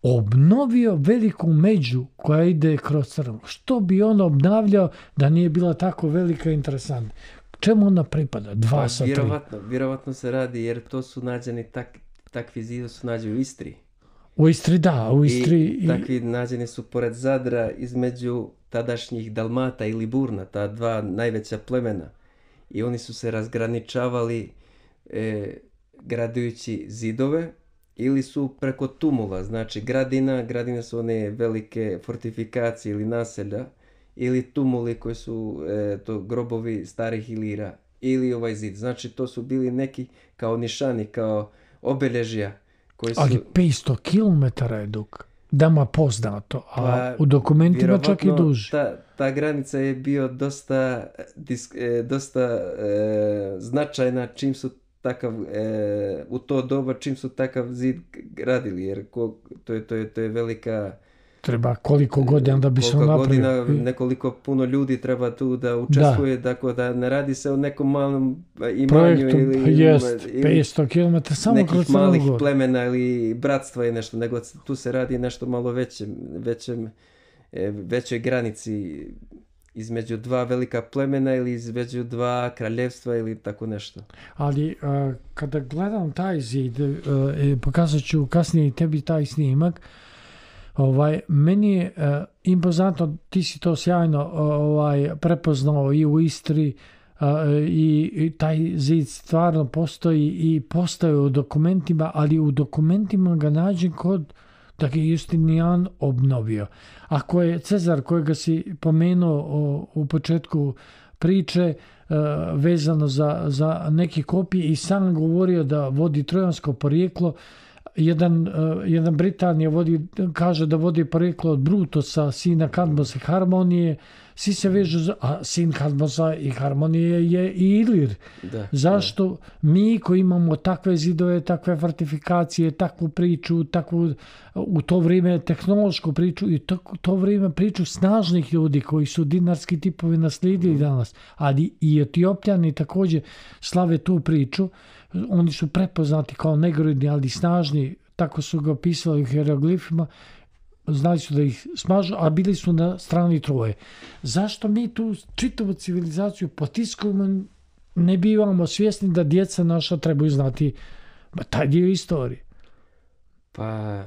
obnovio veliku među koja ide kroz Crnu. Što bi on obnavljao da nije bila tako velika i interesantna? Čemu ona pripada? Dva pa, sa vjerovatno, tri. Vjerovatno se radi jer to su nađeni tak, takvi zidovi su nađeni u Istri. U Istri, da, u Istri. I, i takvi nađeni su pored Zadra između tadašnjih Dalmata i Liburna, ta dva najveća plemena. I oni su se razgraničavali e, gradujući zidove ili su preko tumula, znači gradina, gradine su one velike fortifikacije ili naselja, ili tumuli koji su e, to grobovi starih Ilira, ili ovaj zid. Znači to su bili neki kao nišani, kao obeležja. Koji su... Ali petsto kilometara je dug, dama poznato, a pa, u dokumentima čak i duži. Ta, ta granica je bio dosta, disk, e, dosta e, značajna čim su takav, e, u to doba čim su takav zid gradili, jer ko, to, je, to, je, to je velika... Treba koliko godina da bi se napravio. Godina, nekoliko puno ljudi treba tu da učestvuje, da. Dakle da ne radi se o nekom malom imanju projektu, ili, jest, ili petsto kilometara samo nekih kroz malih plemena ili bratstva i nešto, nego tu se radi nešto malo većem, većem, većoj granici između dva velika plemena ili između dva kraljevstva ili tako nešto. Ali uh, kada gledam taj zid, uh, pokazat ću kasnije tebi taj snimak, Ovaj, meni je uh, impozantno, ti si to sjajno uh, ovaj, prepoznao i u Istri uh, i, i taj zid stvarno postoji i postoji u dokumentima, ali u dokumentima ga nađem kod da ga Justinijan obnovio. Ako je Cezar kojega si pomenuo o, u početku priče uh, vezano za, za neke kopije i sam govorio da vodi trojansko porijeklo, Jedan, uh, jedan Britanija vodi, kaže da vodi porijeklo od Brutusa, sina Kadmosa i Harmonije, svi se vežu, za, a sin Kadmosa i Harmonije je i Ilir. Da, Zašto da. mi koji imamo takve zidove, takve fortifikacije, takvu priču, takvu, u to vrijeme tehnološku priču i to, to vrijeme priču snažnih ljudi koji su dinarski tipovi naslijedili danas, ali i Etiopljani također slave tu priču. Oni su prepoznati kao negroidni, ali snažni, tako su ga opisali u hieroglifima, znali su da ih smažu, a bili su na strani Troje. Zašto mi tu čitavu civilizaciju potiskujemo, ne bivamo svjesni da djeca naša trebaju znati taj dio istorije? Pa,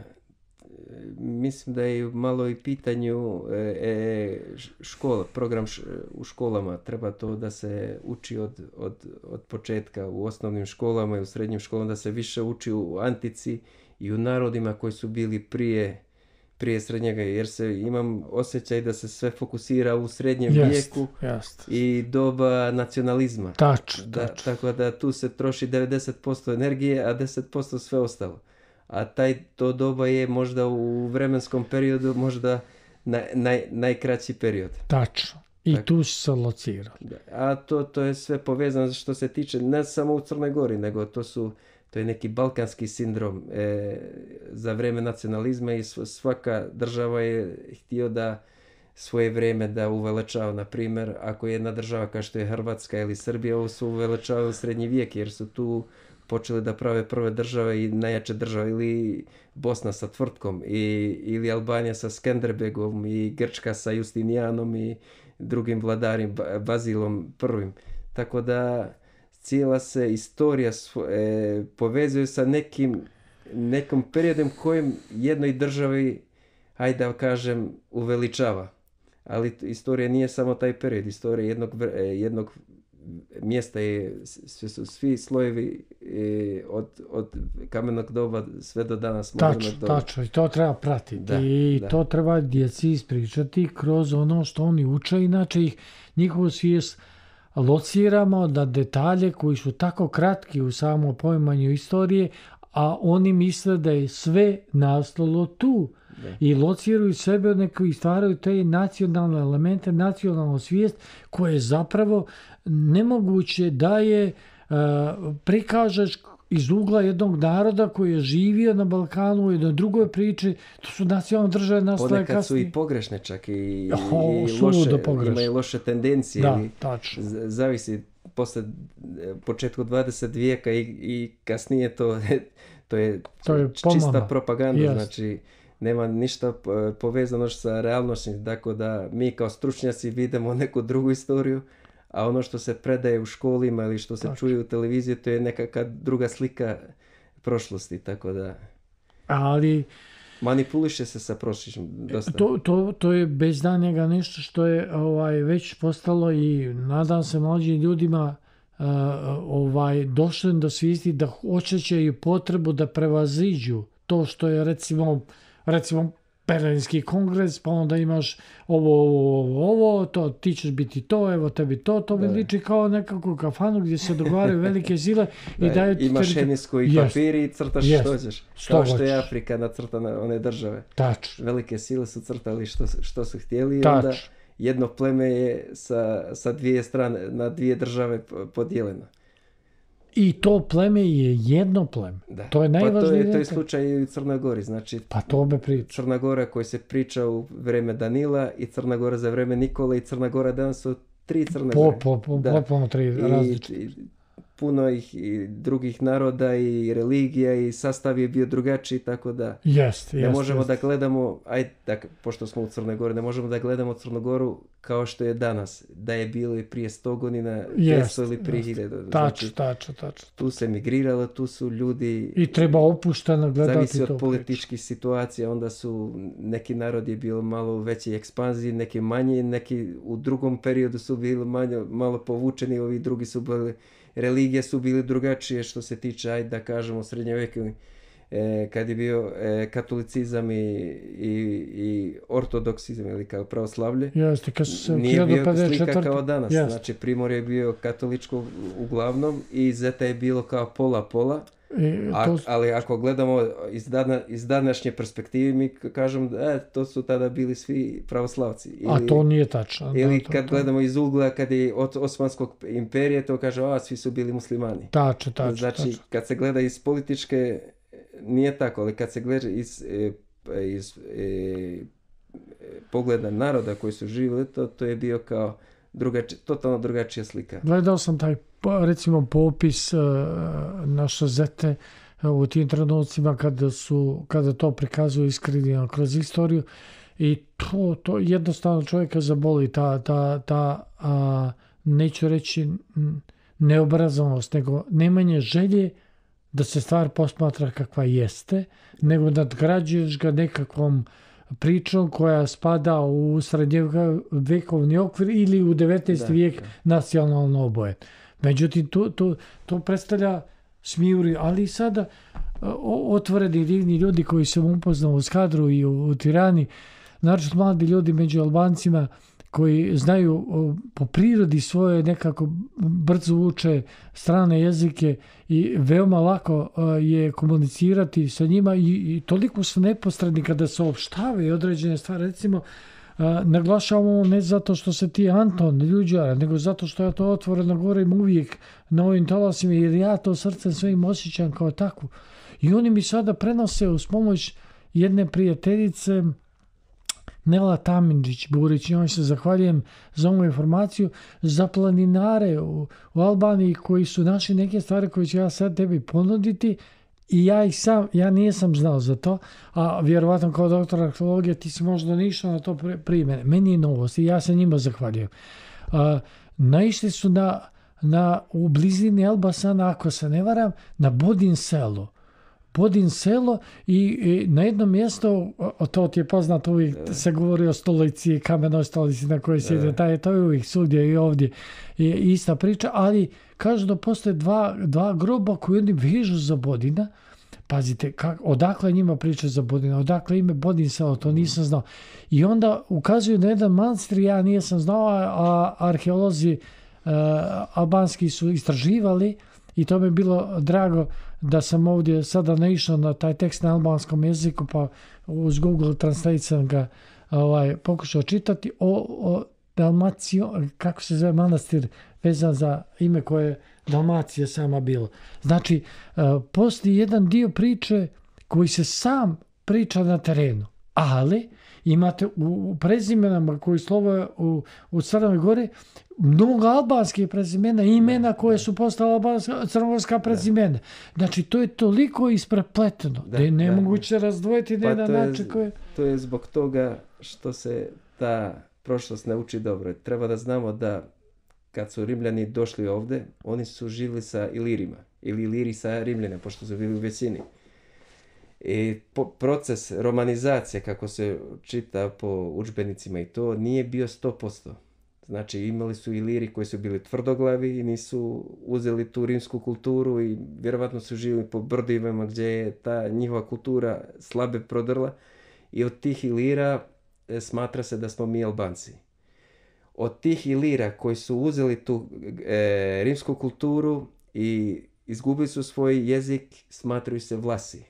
mislim da je malo i pitanju e, škola, program š, u školama. Treba to da se uči od, od, od početka u osnovnim školama i u srednjim školama, da se više uči u antici i u narodima koji su bili prije, prije srednjega, jer se imam osjećaj da se sve fokusira u srednjem jest, vijeku jest. i doba nacionalizma. Tač, da, tač. Tako da tu se troši devedeset posto energije, a deset posto sve ostalo. A taj to doba je možda u vremenskom periodu možda naj, naj, najkraći period. Tačno. I tako, tu se locira. A to, to je sve povezano što se tiče ne samo u Crnoj Gori, nego to su to je neki balkanski sindrom e, za vrijeme nacionalizma i svaka država je htio da svoje vrijeme da uveličava. Na primjer, ako je jedna država kao što je Hrvatska ili Srbija, ovo su uveličavali u srednji vijek jer su tu počeli da prave prve države i najjače države, ili Bosna sa Tvrtkom, i, ili Albanija sa Skenderbegom, i Grčka sa Justinijanom i drugim vladarim, Bazilom prvim. Tako da cijela se istorija e, povezuje sa nekim, nekom periodom kojem jednoj državi, hajde da kažem, uveličava. Ali istorija nije samo taj period, istorija jednog, jednog mjesta je, sve su svi slojevi e, od, od kamenog doba sve do danas modernog doba. Tačno, i to treba pratiti. Da, I da. to treba djeci ispričati kroz ono što oni uče, inače ih njihovu svijest lociramo da detalje koji su tako kratki u samom poimanju istorije, a oni misle da je sve nastalo tu. Da. I lociraju sebe neko i stvaraju te nacionalne elemente, nacionalnu svijest koje je zapravo nemoguće da je uh, prikažeš iz ugla jednog naroda koji je živio na Balkanu u jednoj drugoj priči. To su nacionalne države nastale kasnije. Ponekad su i pogrešne čak i, oh, i loše, pogrešne. Imaju loše tendencije. Da, ili tačno. Zavisi posle početku dvadesetog vijeka i, i kasnije to, to je, to je čista propaganda. Yes. Znači nema ništa povezano sa realnošću, tako da mi kao stručnjaci vidimo neku drugu istoriju, a ono što se predaje u školima ili što se tako čuje u televiziji, to je nekakva druga slika prošlosti, tako da... Ali Manipuliše se sa prošlićem dosta. To, to, to je bez danjega nešto što je ovaj, već postalo i nadam se mlađim ljudima uh, ovaj, došli do svijesti da osjećaju potrebu da prevaziđu to što je recimo, recimo Berlinski kongres, pa onda imaš ovo, ovo, ovo, to, ti ćeš biti to, evo tebi to, to mi liči kao nekako kafanu gdje se dogovaraju velike sile i daju ti... Imaš hemijsku i papiri i crtaš yes. što ćeš. Kao što je Afrika nacrtana one države. Tač. Velike sile su crtali što, što su htjeli i onda jedno pleme je sa, sa dvije strane, na dvije države podijeljeno. I to pleme je jedno pleme. Da. To je najvažnije. Pa to je, to je slučaj i u Crnoj Gori. Znači, pa to me priča. Crna Gora koji se priča u vreme Danila i Crna Gora za vreme Nikole i Crna Gora danas su tri Crne po, Gore. Po, po, da. Potpuno tri različite. Puno ih i drugih naroda i religija i sastav je bio drugačiji, tako da jest, ne jest, možemo jest. da gledamo, ajde, tak, pošto smo u Crnoj Gori, ne možemo da gledamo Crnu Goru kao što je danas, da je bilo i prije sto godina, petsto ili prije hiljadu. Tačno, tačno, tačno. Tu se migriralo, tu su ljudi... I treba opušteno gledati to. Zavisi od političkih situacija, onda su neki narodi bilo malo u većoj ekspanziji, neki manji, neki u drugom periodu su bili manje, malo povučeni, ovi drugi su bili... Religije su bili drugačije što se tiče, ajde da kažemo, srednjovjekovni, e, kad je bio e, katolicizam i, i, i ortodoksizam ili kao pravoslavlje. Jeste, kad se nije bio slika kao danas. Jeste. Znači, Primorje je bio katoličko uglavnom i Zeta je bilo kao pola-pola. E, A, to... ali ako gledamo iz, dana, iz današnje perspektive, mi kažemo da e, to su tada bili svi pravoslavci. Ili, a to nije tačno. Ili da, to, kad to... gledamo iz ugla kad je od Osmanskog imperije, to kaže, a svi su bili muslimani. Tačno, tačno. Znači, tačno. kad se gleda iz političke, nije tako, ali kad se gleda iz, iz, iz pogleda naroda koji su živjeli, to, to je bio kao drugači, totalno drugačija slika. Gledao sam taj, recimo, popis uh, naše Zete uh, u tim trenucima kada su, kada to prikazuju iskrivljeno kroz istoriju i to, to jednostavno čovjeka zaboli, ta, ta, ta a, neću reći neobrazovanost, nego nemanje želje da se stvar posmatra kakva jeste, nego nadgrađuješ ga nekakvom pričom koja spada u srednjovjekovni okvir ili u devetnaesti vijek nacionalno oboje. Međutim, to, to, to predstavlja smijuri, ali sada o, otvoreni divni ljudi koji sam upoznao u Skadru i u, u Tirani, naročito mladi ljudi među Albancima koji znaju o, po prirodi svoje nekako brzo uče strane jezike i veoma lako o, je komunicirati sa njima i, i toliko su neposredni kada se opštavaju određene stvari. Recimo, a, naglašavamo ne zato što se ti Anton Ljuđara, nego zato što ja to otvoreno govorim uvijek na ovim talasima jer ja to srcem svojim osjećam kao takvu. I oni mi sada prenose uz pomoć jedne prijateljice Nela Tamindžić-Burić, njoj se zahvaljujem za ovu informaciju, za planinare u, u Albaniji koji su našli neke stvari koje ću ja sad tebi ponuditi i ja ih sam, ja nisam znao za to, a vjerovatno kao doktor arheologije ti si možda nišao na to prije mene. Meni je novost i ja se njima zahvaljujem. A, naišli su na, na, u blizini Elbasana, ako se ne varam, na Bodin selo. Bodin selo i, i na jednom mjestu, to ti je poznato, uvijek se govori o stolici, kamenoj stolici na kojoj sjede, taj, to je uvijek svugdje i ovdje je ista priča, ali kažu da postoje dva, dva groba koji oni vežu za Bodina. Pazite, kak, odakle njima priča za Bodina, odakle ime Bodin selo, to nisam znao. I onda ukazuju na jedan manastir, ja nisam znao, a arheolozi uh, albanski su istraživali i to mi je bilo drago da sam ovdje sada naišao na taj tekst na albanskom jeziku, pa uz Google Translate sam ga ovaj, pokušao čitati o, o Dalmaciju, kako se zove manastir vezan za ime koje je Dalmacija sama bilo. Znači, uh, postoji jedan dio priče koji se sam priča na terenu, ali imate u, u prezimenama koji slove u, u Crnoj Gori mnogo albanskih prezimena, imena koje su postala albanska, crnogorska prezimena. Znači, to je toliko isprepleteno da, da je nemoguće da. razdvojiti na pa jedan način koje... To je zbog toga što se ta prošlost ne uči dobro. Treba da znamo da kad su Rimljani došli ovde, oni su živjeli sa Ilirima ili Iliri sa Rimljane, pošto su bili u većini. I po, proces romanizacije, kako se čita po udžbenicima i to, nije bio sto posto. Znači imali su Iliri koji su bili tvrdoglavi i nisu uzeli tu rimsku kulturu i vjerovatno su živjeli po brdivima gdje je ta njihova kultura slabe prodrla i od tih Ilira e, smatra se da smo mi Albanci. Od tih Ilira koji su uzeli tu e, rimsku kulturu i izgubili su svoj jezik, smatraju se Vlasi.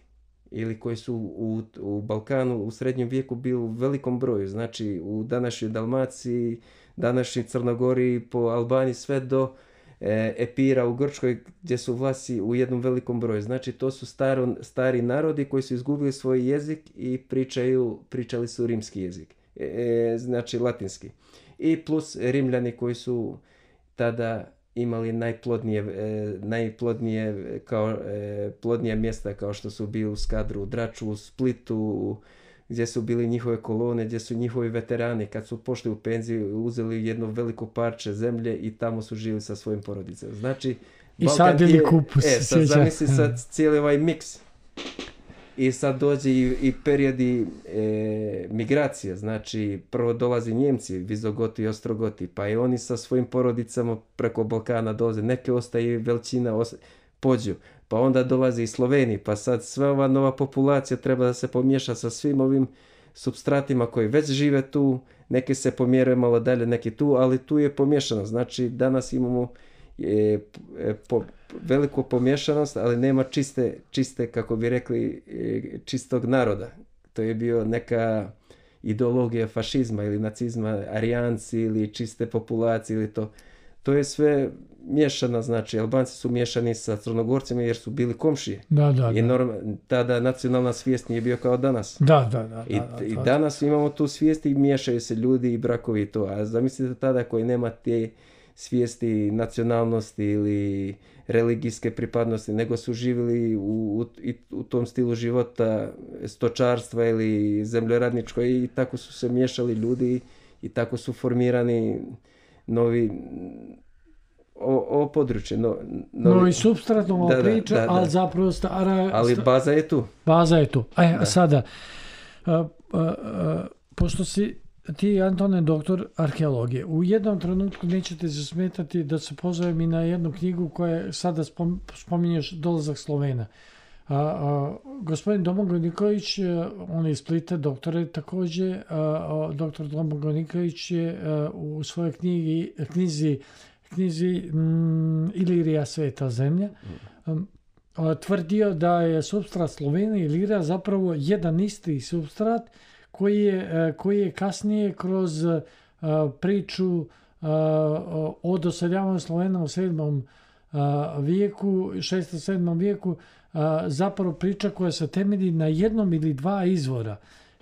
Ili koji su u, u Balkanu u srednjem vijeku bili u velikom broju. Znači u današnjoj Dalmaciji, današnjoj Crnogori, po Albaniji, sve do e, Epira u Grčkoj gdje su Vlasi u jednom velikom broju. Znači to su staro, stari narodi koji su izgubili svoj jezik i pričaju, pričali su rimski jezik. E, znači latinski. I plus Rimljani koji su tada imali najplodnije, e, najplodnije kao, e, plodnije mjesta kao što su bili u Skadru, u Draču, u Splitu, gdje su bili njihove kolone, gdje su njihovi veterani kad su pošli u penziju uzeli jedno veliko parče zemlje i tamo su živjeli sa svojim porodicama. Znači, i sadili kupus. E, sad zamisli sad cijeli ovaj miks. I sad dođe i, i periodi e, migracije, znači prvo dolazi Njemci, Vizogoti i Ostrogoti, pa i oni sa svojim porodicama preko Balkana dolaze, neke ostaje veličina, osta, pođu, pa onda dolazi i Sloveniji, pa sad sva ova nova populacija treba da se pomiješa sa svim ovim supstratima koji već žive tu, neki se pomjeraju malo dalje, neki tu, ali tu je pomiješano, znači danas imamo e, e, po, veliku pomješanost, ali nema čiste, čiste, kako bi rekli, čistog naroda. To je bio neka ideologija fašizma ili nacizma, arijanci ili čiste populacije ili to. To je sve miješano, znači Albanci su miješani sa Crnogorcima jer su bili komšije. Da, da, I norm, tada nacionalna svijest nije bio kao danas. Da, da, da. I, da, da, i danas imamo tu svijest i miješaju se ljudi i brakovi i to. A zamislite tada koji nema te svijesti nacionalnosti ili religijske pripadnosti, nego su živjeli u, u, u tom stilu života stočarstva ili zemljoradničko i tako su se miješali ljudi i tako su formirani novi ovo područje. No, novi, novi substrat, nova da, priča, da, da, ali da. zapravo stara... Ali baza je tu. Baza je tu. A Da. sada, a, a, a, pošto si ti, Antone, doktor arheologije, u jednom trenutku nećete se smetati da se pozovem i na jednu knjigu koja sada spom, spominješ dolazak Slovena. A, a, gospodin Domagoj Nikolić, on je iz Splita, doktor je također, a, a, doktor Domagoj Nikolić je a, u svojoj knjigi, knjizi, knjizi mm, Ilirija sveta zemlja, um, a, tvrdio da je supstrat Slovenije i Ilirija zapravo jedan isti supstrat koji je, koji je kasnije kroz uh, priču uh, o doseljavanju Slovena u sedmom uh, vijeku, šestom sedmom vijeku, uh, zapravo priča koja se temelji na jednom ili dva izvora.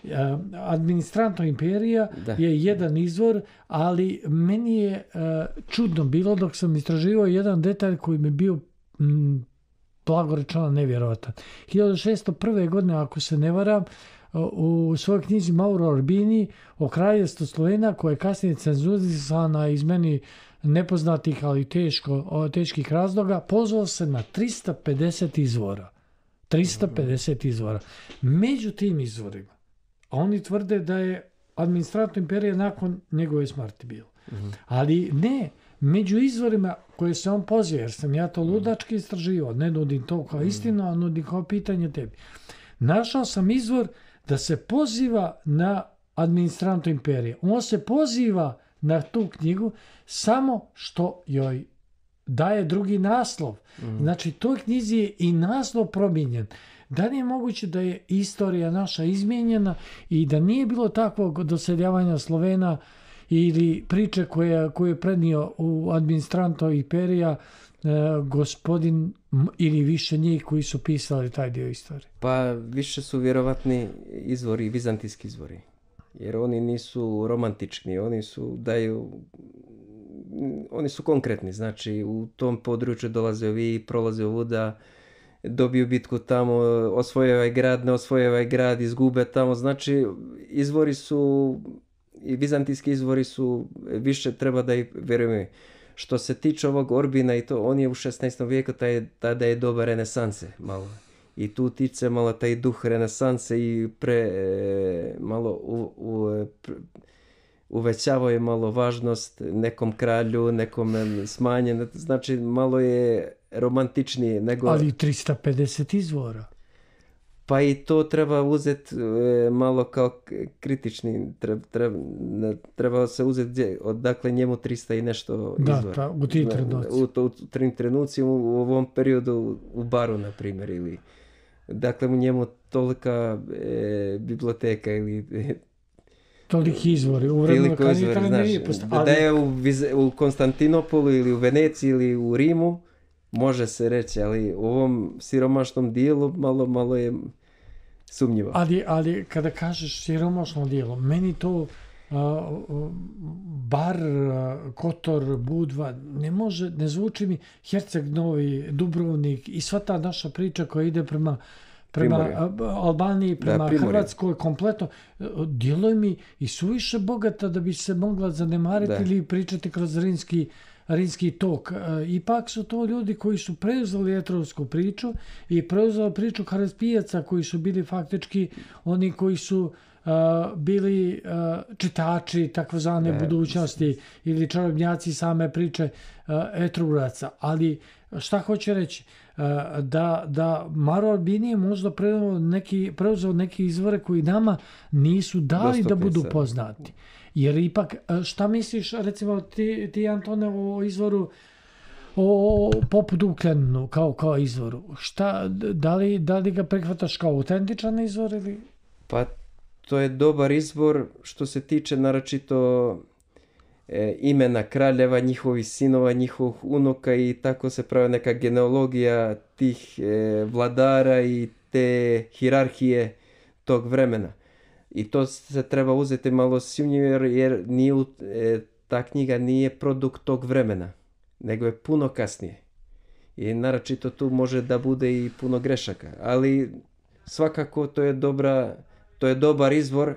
Uh, Administranto imperija Da. je jedan izvor, ali meni je uh, čudno bilo dok sam istraživao jedan detalj koji mi je bio mm, blago rečeno nevjerovatan. hiljadu šesto prve. godine, ako se ne varam, u svojoj knjizi Mauro Orbini o kraljevstvu Slovena, koja je kasnije cenzurisana iz meni nepoznatih, ali teško, teških razloga, pozvao se na tristo pedeset izvora. tristo pedeset izvora. Među tim izvorima, a oni tvrde da je administrator imperije nakon njegove smrti bilo. Mhm. Ali ne, među izvorima koje se on poziva, jer sam ja to ludački istraživao, ne nudim to kao istinu, a nudim kao pitanje tebi. Našao sam izvor da se poziva na administrantu imperije. On se poziva na tu knjigu samo što joj daje drugi naslov. Mhm. Znači, toj knjizi je i naslov promijenjen. Da li je moguće da je istorija naša izmijenjena i da nije bilo takvog doseljavanja Slovena ili priče koje, koje je prenio u administranto imperija e, gospodin ili više njih koji su pisali taj dio istorije? Pa više su vjerovatni izvori, vizantijski izvori. Jer oni nisu romantični, oni su daju, oni su konkretni. Znači u tom području dolaze ovi, prolaze ovuda, dobiju bitku tamo, osvoje ovaj grad, ne osvoje ovaj grad, izgube tamo. Znači izvori su, i vizantijski izvori su, više treba da ih vjerujemo. Što se tiče ovog Orbina i to, on je u šesnaestom vijeku, taj, tada je doba renesanse malo. I tu utiče malo taj duh renesanse i pre, e, malo u, u, pre, uvećavao je malo važnost nekom kralju, nekom smanjen, znači malo je romantičnije nego... Ali tristo pedeset izvora. Pa i to treba uzeti e, malo kao kritični, treba, treba, treba se uzeti odakle njemu tristo i nešto da, izvora. Da, u ti trenuci. U, u, u tim trenucima, u, u ovom periodu u baru, na primjer, ili dakle u njemu tolika e, biblioteka ili... E, toliki izvori, u vremenu kad je treba nije postavljeno. Da je u, u Konstantinopolu ili u Veneciji ili u Rimu, može se reći, ali u ovom siromašnom dijelu malo, malo je sumnjivo. Ali, ali kada kažeš siromašno dijelo, meni to uh, bar, uh, Kotor, Budva, ne može, ne zvuči mi Herceg Novi, Dubrovnik i sva ta naša priča koja ide prema prema Primorje. Albaniji, prema da, Hrvatskoj, kompletno, djeluje mi i suviše bogata da bi se mogla zanemariti da. Ili pričati kroz rimski, rimski tok. Ipak su to ljudi koji su preuzeli etrovsku priču i preuzeli priču Harespijaca koji su bili faktički oni koji su Uh, bili uh, čitači takozvane ne, budućnosti ili čarobnjaci same priče uh, Etrugaca. Ali šta hoće reći? Uh, da, da Maro Albini je možda preuzeo neki, preuzeo neki izvore koji nama nisu dali Dostupni da budu se. Poznati. Jer ipak, šta misliš, recimo ti, ti Antone, o izvoru o popu Dukljaninu kao, kao izvoru? Šta, da li, da li ga prihvataš kao autentičan izvor ili... Pa to je dobar izbor što se tiče naročito e, imena kraljeva, njihovih sinova, njihovih unuka i tako se pravi neka genealogija tih e, vladara i te hirarhije tog vremena. I to se treba uzeti malo sumnjivo jer nije, e, ta knjiga nije produkt tog vremena, nego je puno kasnije. I naročito tu može da bude i puno grešaka, ali svakako to je dobra... To je dobar izvor,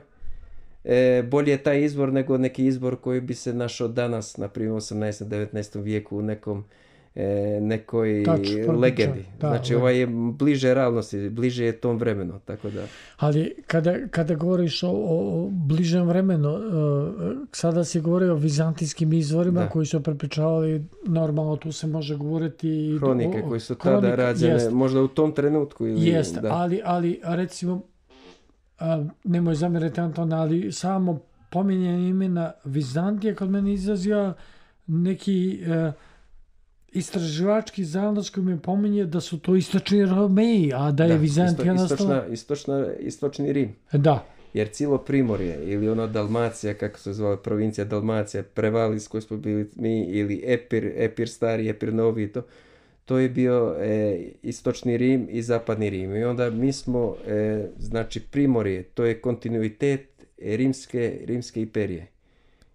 e, bolje je taj izvor nego neki izvor koji bi se našao danas, na primjer u osamnaestom devetnaestom vijeku u nekom, e, nekoj Tač, legendi. Da, znači ovaj je bliže realnosti, bliže je tom vremenu. Tako da. Ali kada, kada govoriš o, o bližem vremenu, uh, sada si govorio o vizantijskim izvorima da. Koji su prepričavali, normalno tu se može govoriti... Hronike o, koji su tada hronik, rađene, jest, možda u tom trenutku. Ili, jest, da. ali, ali recimo... A, nemoj zamjeriti Anton, ali samo pominjanje imena Vizantije kod mene izrazio neki e, istraživački zadač koji mi pominje da su to istočni Romeji, a da je da, Vizantija isto, nastala... Istočna, istočna, istočni Rim. Da. Jer cijelo Primorje ili ono Dalmacija, kako se zvala provincija Dalmacija, Prevalis koji smo bili mi, ili Epir, Epir stari, Epir novi, to, to je bio e, istočni Rim i zapadni Rim. I onda mi smo, e, znači Primorje, to je kontinuitet rimske, rimske imperije.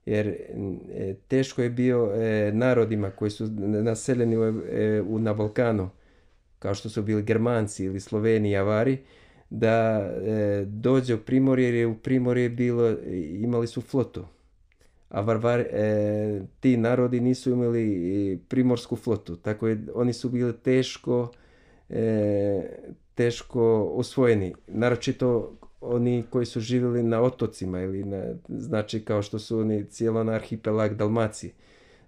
Jer e, teško je bio e, narodima koji su naseljeni u, e, u, na Balkanu, kao što su bili Germanci ili Sloveni i Avari, da e, dođe u Primorje, jer je u Primorje bilo, imali su flotu. A Varvar, e, ti narodi nisu imali primorsku flotu, tako je, oni su bili teško, e, teško osvojeni. Naročito oni koji su živjeli na otocima, ili na, znači kao što su oni cijelo na arhipelag Dalmacije.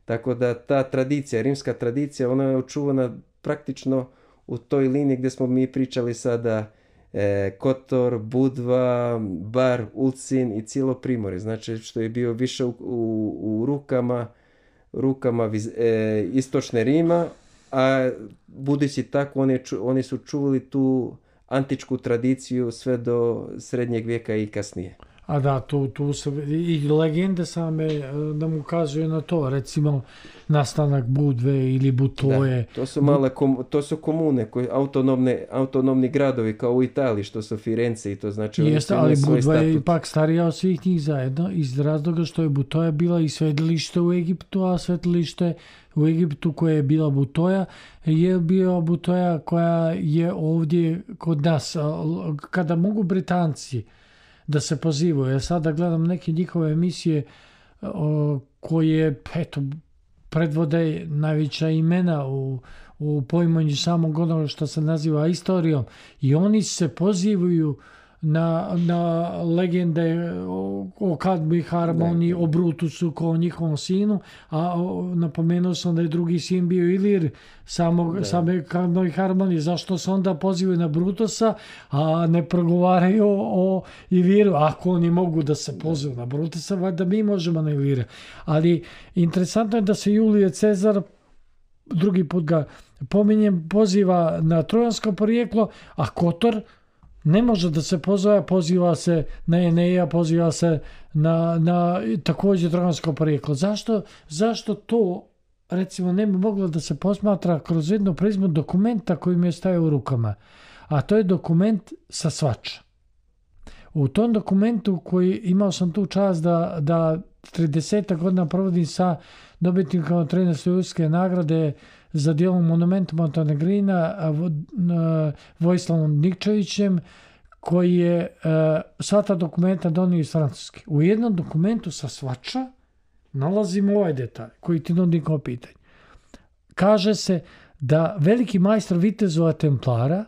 Tako da ta tradicija, rimska tradicija, ona je očuvana praktično u toj liniji gdje smo mi pričali sada, E, Kotor, Budva, Bar, Ulcin i cijelo Primorje. Znači što je bio više u, u, u rukama, rukama viz, e, istočne Rima, a budući tako oni, oni su čuvali tu antičku tradiciju sve do srednjeg vijeka i kasnije. A da, tu, tu se i legende same nam ukazuju na to, recimo nastanak Budve ili Butoje. Da, to su male kom, to su komune, koji, autonomne, autonomni gradovi kao u Italiji, što su Firence i to znači... Jeste, ali Budva je ipak starija od svih njih zajedno iz razloga što je Butoja bila i svetilište u Egiptu, a svetilište u Egiptu koje je bila Butoja je bio Butoja koja je ovdje kod nas. Kada mogu Britanci da se pozivaju. Ja sada gledam neke njihove emisije o, koje eto, predvode najveća imena u, u poimanju samog onoga što se naziva istorijom i oni se pozivaju na, na legende o, o Kadmi Harmoniji, o Brutusu kao njihovom sinu, a o, napomenuo sam da je drugi sin bio Ilir samog, same Kadmi Harmonije. Zašto se onda pozivaju na Brutusa, a ne progovaraju o, o Iliru? Ako oni mogu da se pozivaju na Brutusa, valjda mi možemo na Ilira. Ali interesantno je da se Julije Cezar, drugi put ga pominjem, poziva na trojansko porijeklo, a Kotor ne može da se pozove, poziva se na Eneja, poziva se na, na također trojansko porijeklo. Zašto, zašto to, recimo, ne bi moglo da se posmatra kroz jednu prizmu dokumenta koji mi je stajao u rukama? A to je dokument sa Svača. U tom dokumentu koji imao sam tu čast da, da trideset godina provodim sa dobitnikom trinaeste Ujutske nagrade za dijelom Monumentum Montenegrina, Vojislavom Nikčevićem, koji je sva ta dokumenta donio iz Francuske. U jednom dokumentu sa Svača nalazimo ovaj detalj koji ti nudim kao pitanje. Kaže se da veliki majstor vitezova Templara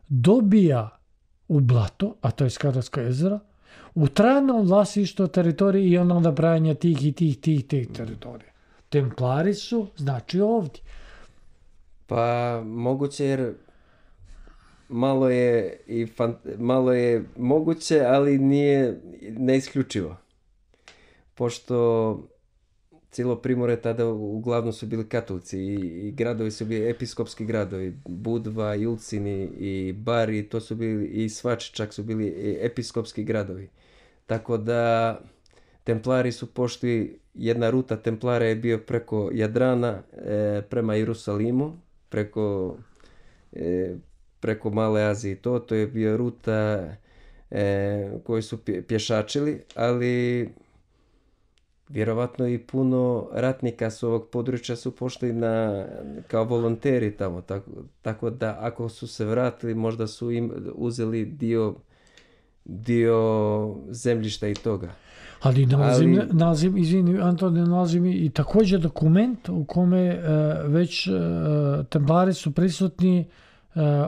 dobija u Blato, a to je Skadarsko jezero, u trajnom vlasništvu teritorije i ono nabrajanja tih i tih, tih, tih teritorija. Templari su, znači, ovdje. Pa moguće jer malo je, i fan, malo je moguće, ali nije neisključivo. Pošto cijelo Primorje tada uglavnom su bili katolici i, i gradovi su bili episkopski gradovi. Budva, Julcini i Bari, to su bili i Svač, čak su bili episkopski gradovi. Tako da Templari su pošli, jedna ruta Templara je bio preko Jadrana e, prema Jerusalimu, preko, e, preko Male Azije. To, to je bio ruta e, koju su pješačili, ali vjerovatno i puno ratnika s ovog područja su pošli na, kao volonteri tamo. Tako, tako da ako su se vratili, možda su im uzeli dio, dio zemljišta i toga. Ali nalazim, Ali... nalazim izvini, Antone, nalazim i također dokument u kome e, već e, Templari su prisutni e,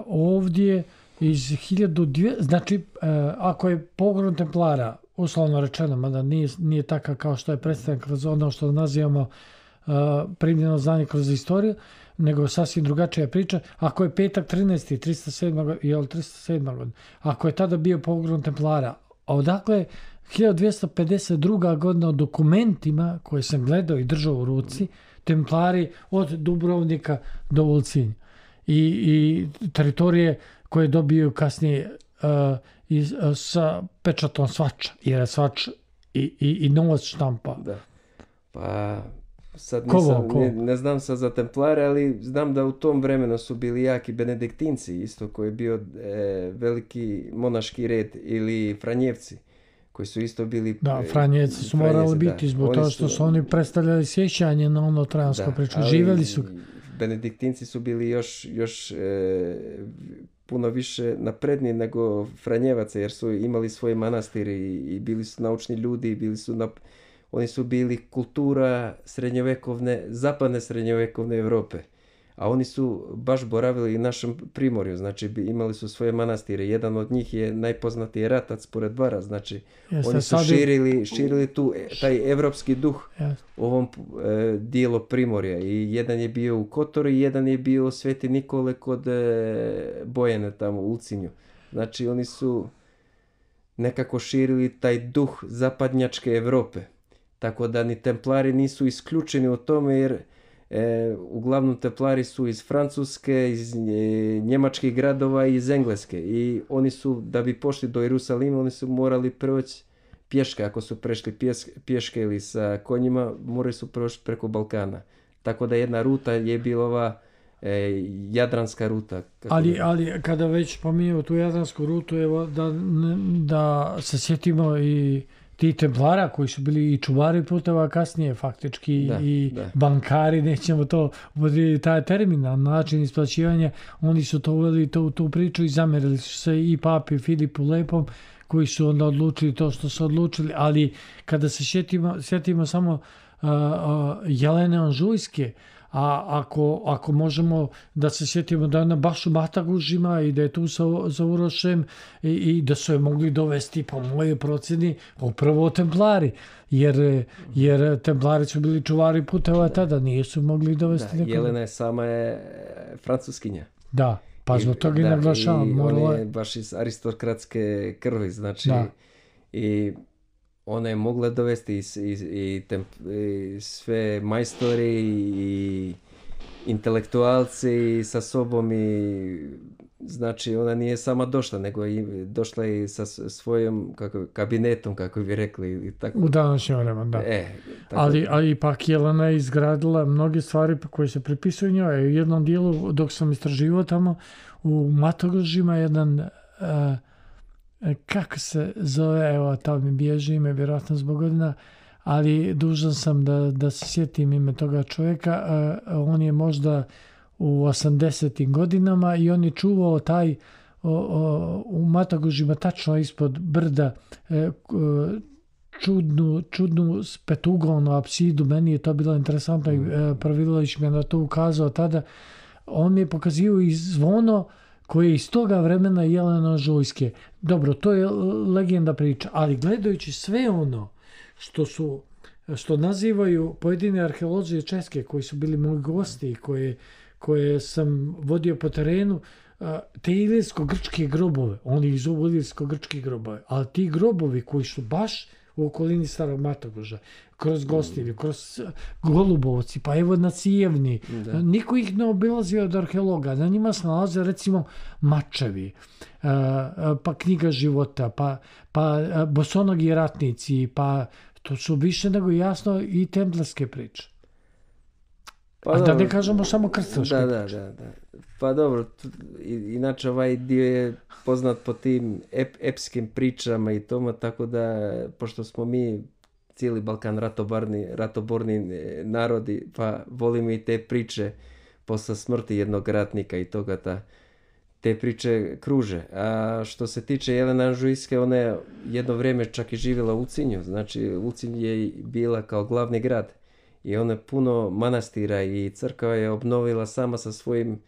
ovdje iz hiljadu dvjesto, znači e, ako je pogrom Templara, uslovno rečeno, mada nije, nije takav kao što je predstavljen kroz ono što nazivamo uh, primljeno znanje kroz istoriju, nego sasvim drugačija priča. Ako je petak trinaesti, tristo sedma, jel, tristo sedma godina, ako je tada bio pogrom Templara, a odakle hiljadu dvjesto pedeset druga godina o dokumentima koje sam gledao i držao u ruci, Templari od Dubrovnika do Ulcinja. I, i teritorije koje dobiju kasnije uh, i sa pečatom Svača, jer je Svač i, i, i novac štampa. Da. Pa sad nisam, ne, ne znam sad za Templare, ali znam da u tom vremenu su bili jaki benediktinci, isto koji je bio e, veliki monaški red, ili Franjevci, koji su isto bili... Da, Franjevci su morali biti, zbog toga što su oni predstavljali sjećanje na ono trojansko priču. Živjeli su... Benediktinci su bili još, još e, puno više napredni nego Franjevaca, jer su imali svoje manastire i, i bili su naučni ljudi, bili su na, oni su bili kultura srednjovekovne, zapadne srednjovekovne Europe. A oni su baš boravili i našem Primorju, znači imali su svoje manastire. Jedan od njih je najpoznatiji Ratac pored Bara, znači Jeste, oni su širili, širili tu taj evropski duh Jeste. u ovom e, dijelu Primorja. I jedan je bio u Kotoru i jedan je bio u Sveti Nikole kod e, Bojene tamo u Ulcinju. Znači oni su nekako širili taj duh zapadnjačke Europe. Tako da ni Templari nisu isključeni u tome, jer E, uglavnom Templari su iz Francuske, iz e, njemačkih gradova i iz Engleske. I oni su, da bi pošli do Jerusalima, oni su morali proći pješke. Ako su prešli pjes, pješke ili sa konjima, morali su proći preko Balkana. Tako da jedna ruta je bila ova e, jadranska ruta. Ali, ali kada već pominjamo tu jadransku rutu, evo da, da se sjetimo i ti Templara koji su bili i čuvari puteva kasnije faktički da, i da. bankari, nećemo to upotrijebiti taj termin, na način isplaćivanja, oni su to uveli to, tu priču i zamerili su se i papi Filipu Lepom koji su onda odlučili to što su odlučili, ali kada se sjetimo, sjetimo samo uh, uh, Jelene Anžujske, A ako, ako možemo da se sjetimo da je ona baš u Matagužima i da je tu sa, sa Urošem i, i da su je mogli dovesti po moje procjeni upravo Templari. Jer, jer Templari su bili čuvari puteva tada, nisu mogli dovesti da, Jelena je sama je francuskinja. Da, pa zbog toga i naglašavam. I morala... on je baš iz aristokratske krvi, znači da. I ona je mogla dovesti i, i, i, temp, i sve majstori i intelektualci sa sobom i znači ona nije sama došla, nego i došla i sa svojim kako, kabinetom, kako bi rekli. I tako. U današnjem vremenu, da. E, tako... Ali, ali ipak Jelena je izgradila mnoge stvari koje se pripisuju njoj. U jednom dijelu, dok sam istraživao tamo, u Matogužima jedan, uh, kako se zove, evo, tamo mi bježi ime, vjerojatno zbog godina, ali dužan sam da, da se sjetim ime toga čovjeka. Uh, on je možda u osamdesetim godinama i on je čuvao taj o, o, u Matogužima tačno ispod brda e, čudnu, čudnu petugonu apsidu. Meni je to bilo interesantno i e, Pravilović mi je na to ukazao tada. On mi je pokazio i zvono koje je iz toga vremena Jelena Žujske. Dobro, to je legenda priča, ali gledajući sve ono što su što nazivaju pojedine arheolozi Česke koji su bili moji gosti i koje koje sam vodio po terenu, te ilirsko-grčke grobove, oni ih zovu ilirsko-grčke grobove, ali ti grobovi koji su baš u okolini Starog Matoguža, kroz Gostilju, kroz Golubovci, pa evo na Cijevni, da. Niko ih ne obilazi od arheologa, na njima se nalaze recimo mačevi, pa knjiga života, pa, pa bosonogi ratnici, pa to su više nego jasno i templarske priče. Pa a da ne kažemo samo krstaške. Da, da, da, da. Pa dobro, inače ovaj dio je poznat po tim ep, epskim pričama i tome, tako da, pošto smo mi cijeli Balkan ratoborni, ratoborni narodi, pa volimo i te priče posle smrti jednog ratnika i toga, ta, te priče kruže. A što se tiče Jelene Anžujske, ona je jedno vrijeme čak i živjela u Ulcinju, znači Ulcinj je bila kao glavni grad. I ona puno manastira i crkva je obnovila sama sa svojim,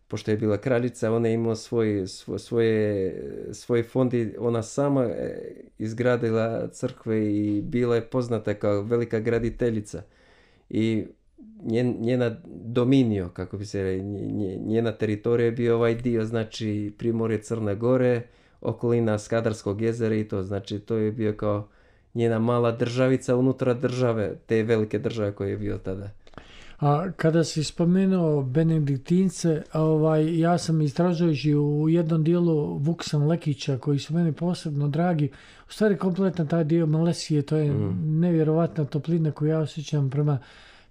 pošto je bila kraljica, ona je imala svoj, svoj, svoje, svoj fond i ona sama izgradila crkve i bila je poznata kao velika graditeljica. I njen, njena dominio, kako bi se rekli, njena teritorija je bio ovaj dio, znači Primorje Crne Gore, okolina Skadarskog jezera i to, znači to je bio kao njena mala državica unutra države, te velike države koje je bio tada. A kada si spomenuo Benediktince, ovaj, ja sam istražujući u jednom dijelu Vuksan Lekića, koji su meni posebno dragi, u stvari kompletno taj dio Malesije, to je mm. nevjerovatna toplina koju ja osjećam prema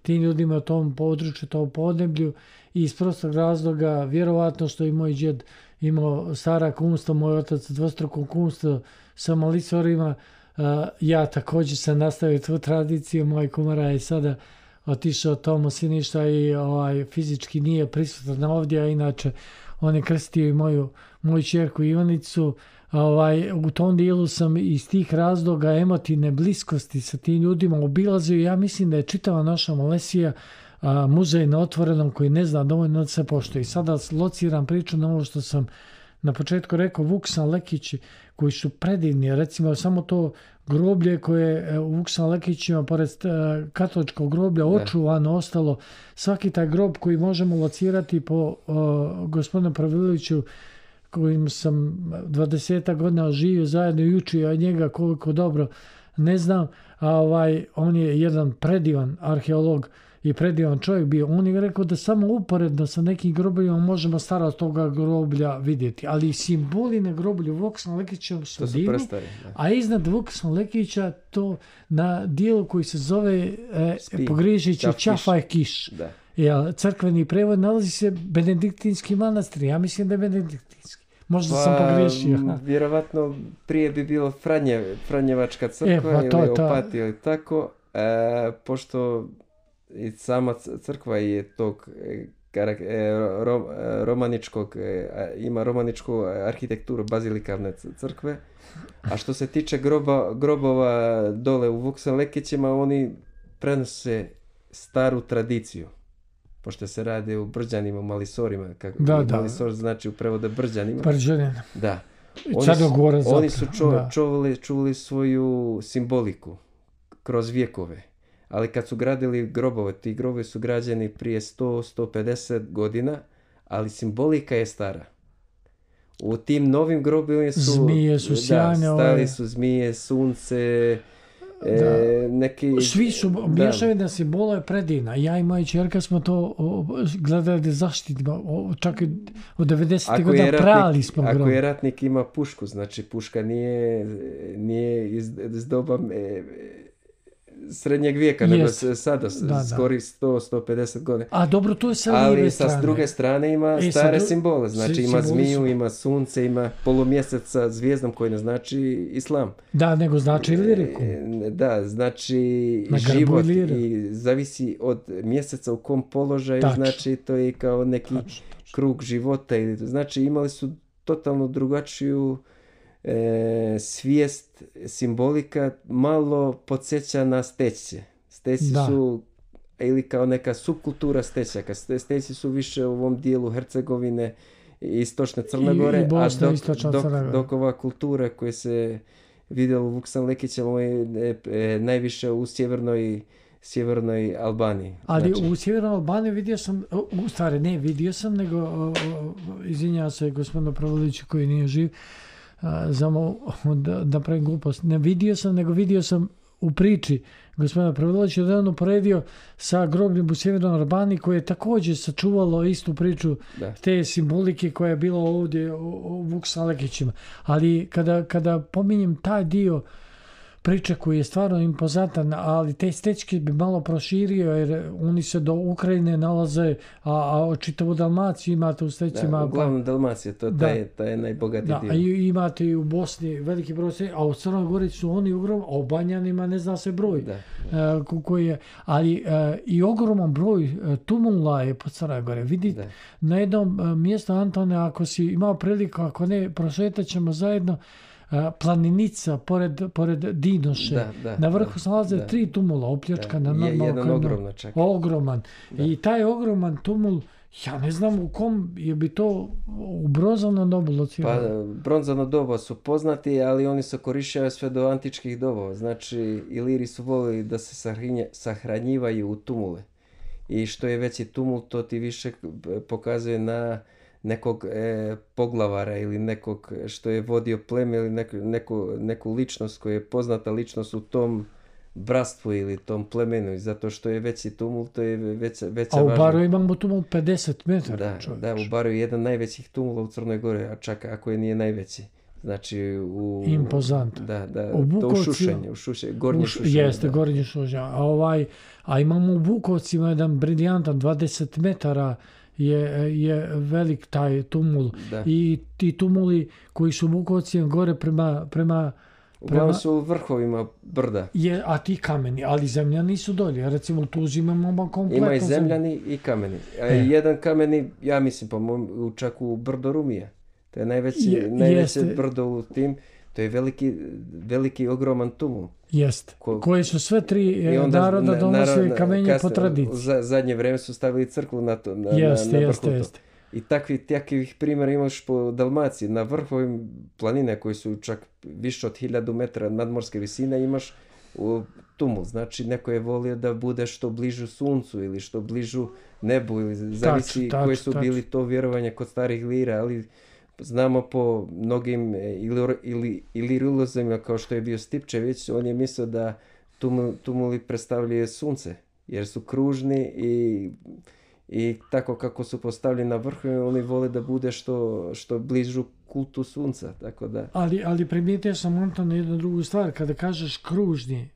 tim ljudima u tom području, tom podneblju i iz prostog razloga, vjerovatno što i moj džed imao stara kumstva, moj otac dvostruko kumstvo sa malisorima, Uh, ja također sam nastavio tu tradiciju, moj kumara je sada otišao tomu Siništa i ovaj, fizički nije prisutan ovdje, a inače on je krstio i moju, moju čerku Ivanicu. Ovaj, u tom dijelu sam iz tih razloga emotivne bliskosti sa tim ljudima obilazio. Ja mislim da je čitava naša Malesija a, muzej na otvorenom koji ne zna dovoljno da se poštuje. I sada lociram priču na ovo što sam na početku rekao, Vuksan Lekići koji su predivni, recimo samo to groblje koje u Vuksan Lekićima pored katoličkog groblja očuvano ostalo, svaki taj grob koji možemo locirati po uh, gospodinu Praviloviću kojim sam dvadeset godina živio zajedno i učio od njega koliko dobro ne znam, a ovaj, on je jedan predivan arheolog i predivan čovjek bio. On je rekao da samo uporedno sa nekim grobljima možemo starost toga groblja vidjeti, ali simboli na groblju Vuksan Lekića su divni, a iznad Vuksan Lekića to na dijelu koji se zove e, pogriješići Čafaj Kiš. Da. Ja, crkveni prevod nalazi se Benediktinski manastir. Ja mislim da je Benediktinski. Možda pa, sam pogriješio. Vjerovatno prije bi bilo Franje, Franjevačka crkva e, pa to, ili Opatija ili tako, e, pošto i sama crkva je tog ro, romaničkog, ima romaničku arhitekturu bazilikavne crkve, a što se tiče groba, grobova dole u Vuksan Lekićima, oni prenose staru tradiciju. pošto se radi o brđanima, malisorima. Kako, da, da. Malisor znači u prevodu brđanima. Brđanin. Da. Oni su, oni su čo, da. čuvali, čuvali svoju simboliku kroz vjekove. Ali kad su gradili grobove, ti grobovi su građeni prije sto do sto pedeset godina, ali simbolika je stara. U tim novim grobovima su... Zmije su sjajne. Da, stali su zmije, sunce, e, neki... Svi su mješavina simbola je predivna. Ja i moja čerka smo to gledali da zaštitimo. Čak i od devedesetih godina prali smo grob. Ako je ratnik ima pušku, znači puška nije, nije iz, iz doba... E, srednjeg vijeka, yes. nego se sada da, skori sto do sto pedeset godina. A dobro, to je sa lijeve strane. Ali sa druge strane ima e, stare dru... simbole. Znači ima zmiju, su... ima sunce, ima polumjesec sa zvijezdom koji ne znači islam. Da, nego znači i liriku. E, da, znači na život i zavisi od mjeseca u kom položaju, Tač. znači to je kao neki Tač. krug života. Znači imali su totalno drugačiju E, svijest, simbolika malo podsjeća na stećce. Stećci su ili kao neka subkultura stećaka. Stećci su više u ovom dijelu Hercegovine i istočne Crne Gore, I, i Bosna, a dok, dok, dok ova kultura koja se vidjela u Vuksan Lekićevom je e, e, najviše u sjevernoj sjevernoj Albaniji. Ali znači, u sjevernoj Albaniji vidio sam, u stvari ne vidio sam, nego o, o, izvinjavam se gospodinu Pravoliću koji nije živ, samo da, da pravim glupost. Ne vidio sam, nego vidio sam u priči gospodina Pravolića da je on uporedio sa grobnim u sjevernoj Albaniji koje je također sačuvalo istu priču da. te simbolike koja je bila ovdje u, u Vuksan Lekićima. Ali kada, kada pominjem taj dio priča koji je stvarno impozantan, ali te stečke bi malo proširio jer oni se do Ukrajine nalaze, a, a čitavu Dalmaciju imate u stečima. Da, uglavnom Dalmacija, to da, taj, taj je najbogatiji da, dio. A imate i u Bosni veliki broj stečka, a u Crnoj Gori su oni ogromni, a u Banjanima ne zna se broj. Da, da. Uh, koji je, ali uh, i ogroman broj uh, tumula je po Crnoj Gori. Vidite, da. na jednom uh, mjestu, Antone, ako si imao priliku, ako ne, prošetat ćemo zajedno, Planinica pored, pored Dinoše. Da, da, na vrhu se nalaze da. tri tumula opljačkana. Da. Je, jedan ogroman čak. Ogroman. Da. I taj ogroman tumul, ja ne znam u kom je bi to u bronzano dobu locirano. Pa bronzano doba su poznati, ali oni se korišćaju sve do antičkih dobova. Znači, Iliri su volili da se sahrinje, sahranjivaju u tumule. I što je veći tumul, to ti više pokazuje na nekog e, poglavara ili nekog što je vodio pleme ili neku, neku, neku ličnost koja je poznata ličnost u tom bratstvu ili tom plemenu i zato što je veći tumul, to je veća, veća važnost. A u Baru imamo tumul pedeset metara. Da, da, u Baru je jedan najvećih tumula u Crnoj Gori, a čak ako je nije najveći. Znači u... Impozant. Da, da, u to u Šušenju, u Šušenju, gornje Šušenje. Jeste, gornje Šušenje. A, ovaj, a imamo u Bukovcima jedan briljantan dvadeset metara je, je velik taj tumul. Da. I ti tumuli koji su u Bukovcima gore prema... prema Uglavnom su u vrhovima brda. Je, a ti kameni, ali zemljani su dolje. Recimo u Tuzli imamo kompletno... Ima i zemljani i kameni. A e. jedan kameni, ja mislim, pa čak u brdo Rumije. To je najveći, je, najveće brdo u tim. To je veliki, veliki ogroman tumul. Jeste. Ko, koje su sve tri naroda donosili kamenje po tradiciji. Za zadnje vrijeme su stavili crkvu na to. Na, jeste, na, na jeste, jeste. I takvi, takvih primjera imaš po Dalmaciji. Na vrhovim planine koji su čak više od hiljadu metara nadmorske visine imaš u tumul. Znači neko je volio da bude što bližu suncu ili što bližu nebu ili zavisi tač, koji su tač. bili to vjerovanje kod starih Ilira, ali znamo po mnogim ili, ili, ilirilozima kao što je bio Stipčević, on je mislio da tumul, tumuli predstavljaju sunce jer su kružni i I tako kako su postavljeni na vrhu, oni vole da bude što, što bližu kultu sunca. Tako da... Ali, ali primijetio sam, Anton, jednu drugu stvar. Kada kažeš kružni,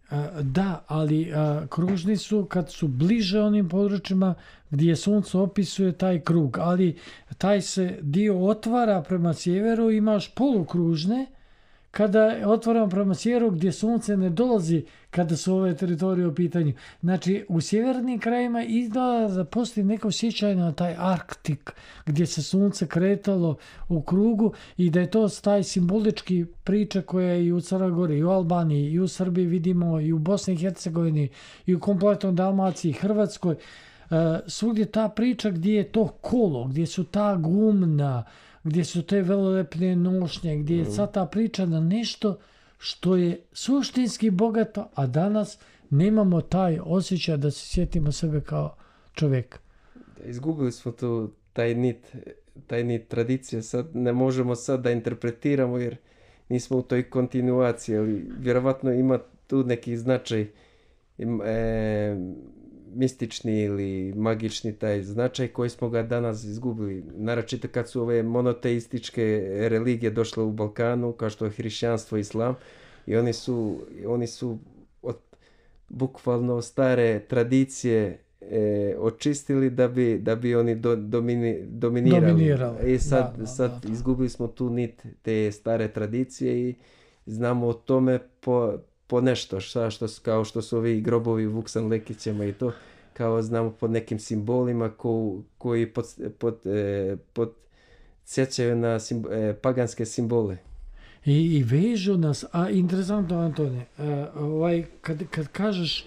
da, ali kružni su kad su bliže onim područjima gdje sunce opisuje taj krug. Ali taj se dio otvara prema sjeveru, imaš polukružne, kada otvaramo prema sjeveru gdje sunce ne dolazi kada su ove teritorije u pitanju. Znači, u sjevernim krajima izgleda da postoji neko sjećanje na taj Arktik gdje se sunce kretalo u krugu i da je to taj simbolički priča koja je i u Crnoj Gori, i u Albaniji, i u Srbiji vidimo, i u Bosni i Hercegovini, i u kompletnoj Dalmaciji, Hrvatskoj. svugdje ta priča gdje je to kolo, gdje su ta gumna, gdje su te velelepne nošnje, gdje je sad ta priča na nešto što je suštinski bogato, a danas nemamo taj osjećaj da se sjetimo sebe kao čovjek. Izgubili smo tu taj nit, taj nit tradicije, sad ne možemo sad da interpretiramo jer nismo u toj kontinuaciji, ali vjerovatno ima tu neki značaj e, mistični ili magični taj značaj koji smo ga danas izgubili. Naročito kad su ove monoteističke religije došle u Balkanu, kao što je hrišćanstvo i islam, i oni su, oni su od bukvalno stare tradicije e, očistili da bi, da bi oni do, domini, dominirali. dominirali. I sad, da, da, sad da. izgubili smo tu nit te stare tradicije i znamo o tome po, po nešto, šta, što, kao što su ovi grobovi Vuksan Lekićima i to, kao znamo pod nekim simbolima ko, koji pod, pod, e, podsjećaju na sim, e, paganske simbole. I, i vežu nas, a interesantno Antone, uh, ovaj, kad, kad kažeš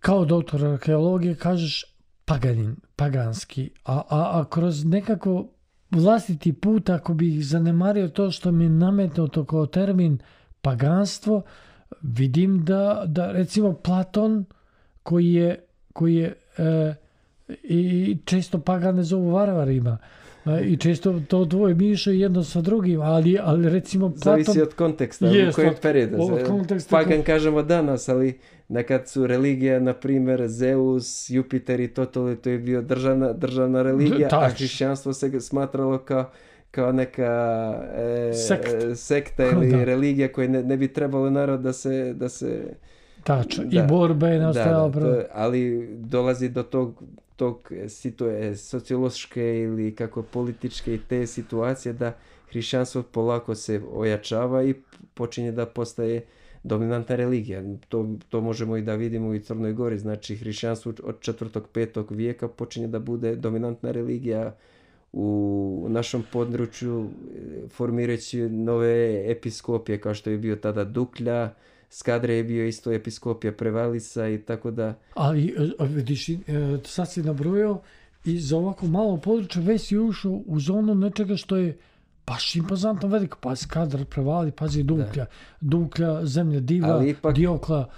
kao doktor arheologije, kažeš paganin, paganski, a, a, a kroz nekako vlastiti put, ako bih zanemario to što mi je nametnuto kao termin paganstvo, vidim da, da recimo Platon, koji je, koji je uh, i često pagane zovu varvarima, i često to dvoje miješaju jedno sa drugim, ali, ali recimo Platon... Zavisi od konteksta, jest, u kojem od, periodu. Od konteksta, Pagan ko... kažemo danas, ali nekad su religija, na primjer, Zeus, Jupiter i to, to, to je bio državna, državna religija, Tač. a hrišćanstvo se smatralo kao, kao neka e, Sekt. sekta ili da. religija koja ne, ne bi trebalo narod da se... Da se Tač. da, I borba je nastajala. Da, da, to, ali dolazi do tog tog situ- sociološke ili kako političke i te situacije da hrišćanstvo polako se ojačava i počinje da postaje dominantna religija. To, to možemo i da vidimo u Crnoj Gori. Znači hrišćanstvo od četvrtog, petog vijeka počinje da bude dominantna religija u našem području, formirajući nove episkopije kao što je bio tada Duklja, Skadre je bio isto episkopija Prevalisa i tako da... Ali, vidiš, sad si nabrojao i za ovako malo područje već si ušao u zonu nečega što je baš impozantno veliko. Pa Skadar, Prevali, pazi Duklja, da. Duklja, Zemlja Diva, ipak, Diokla.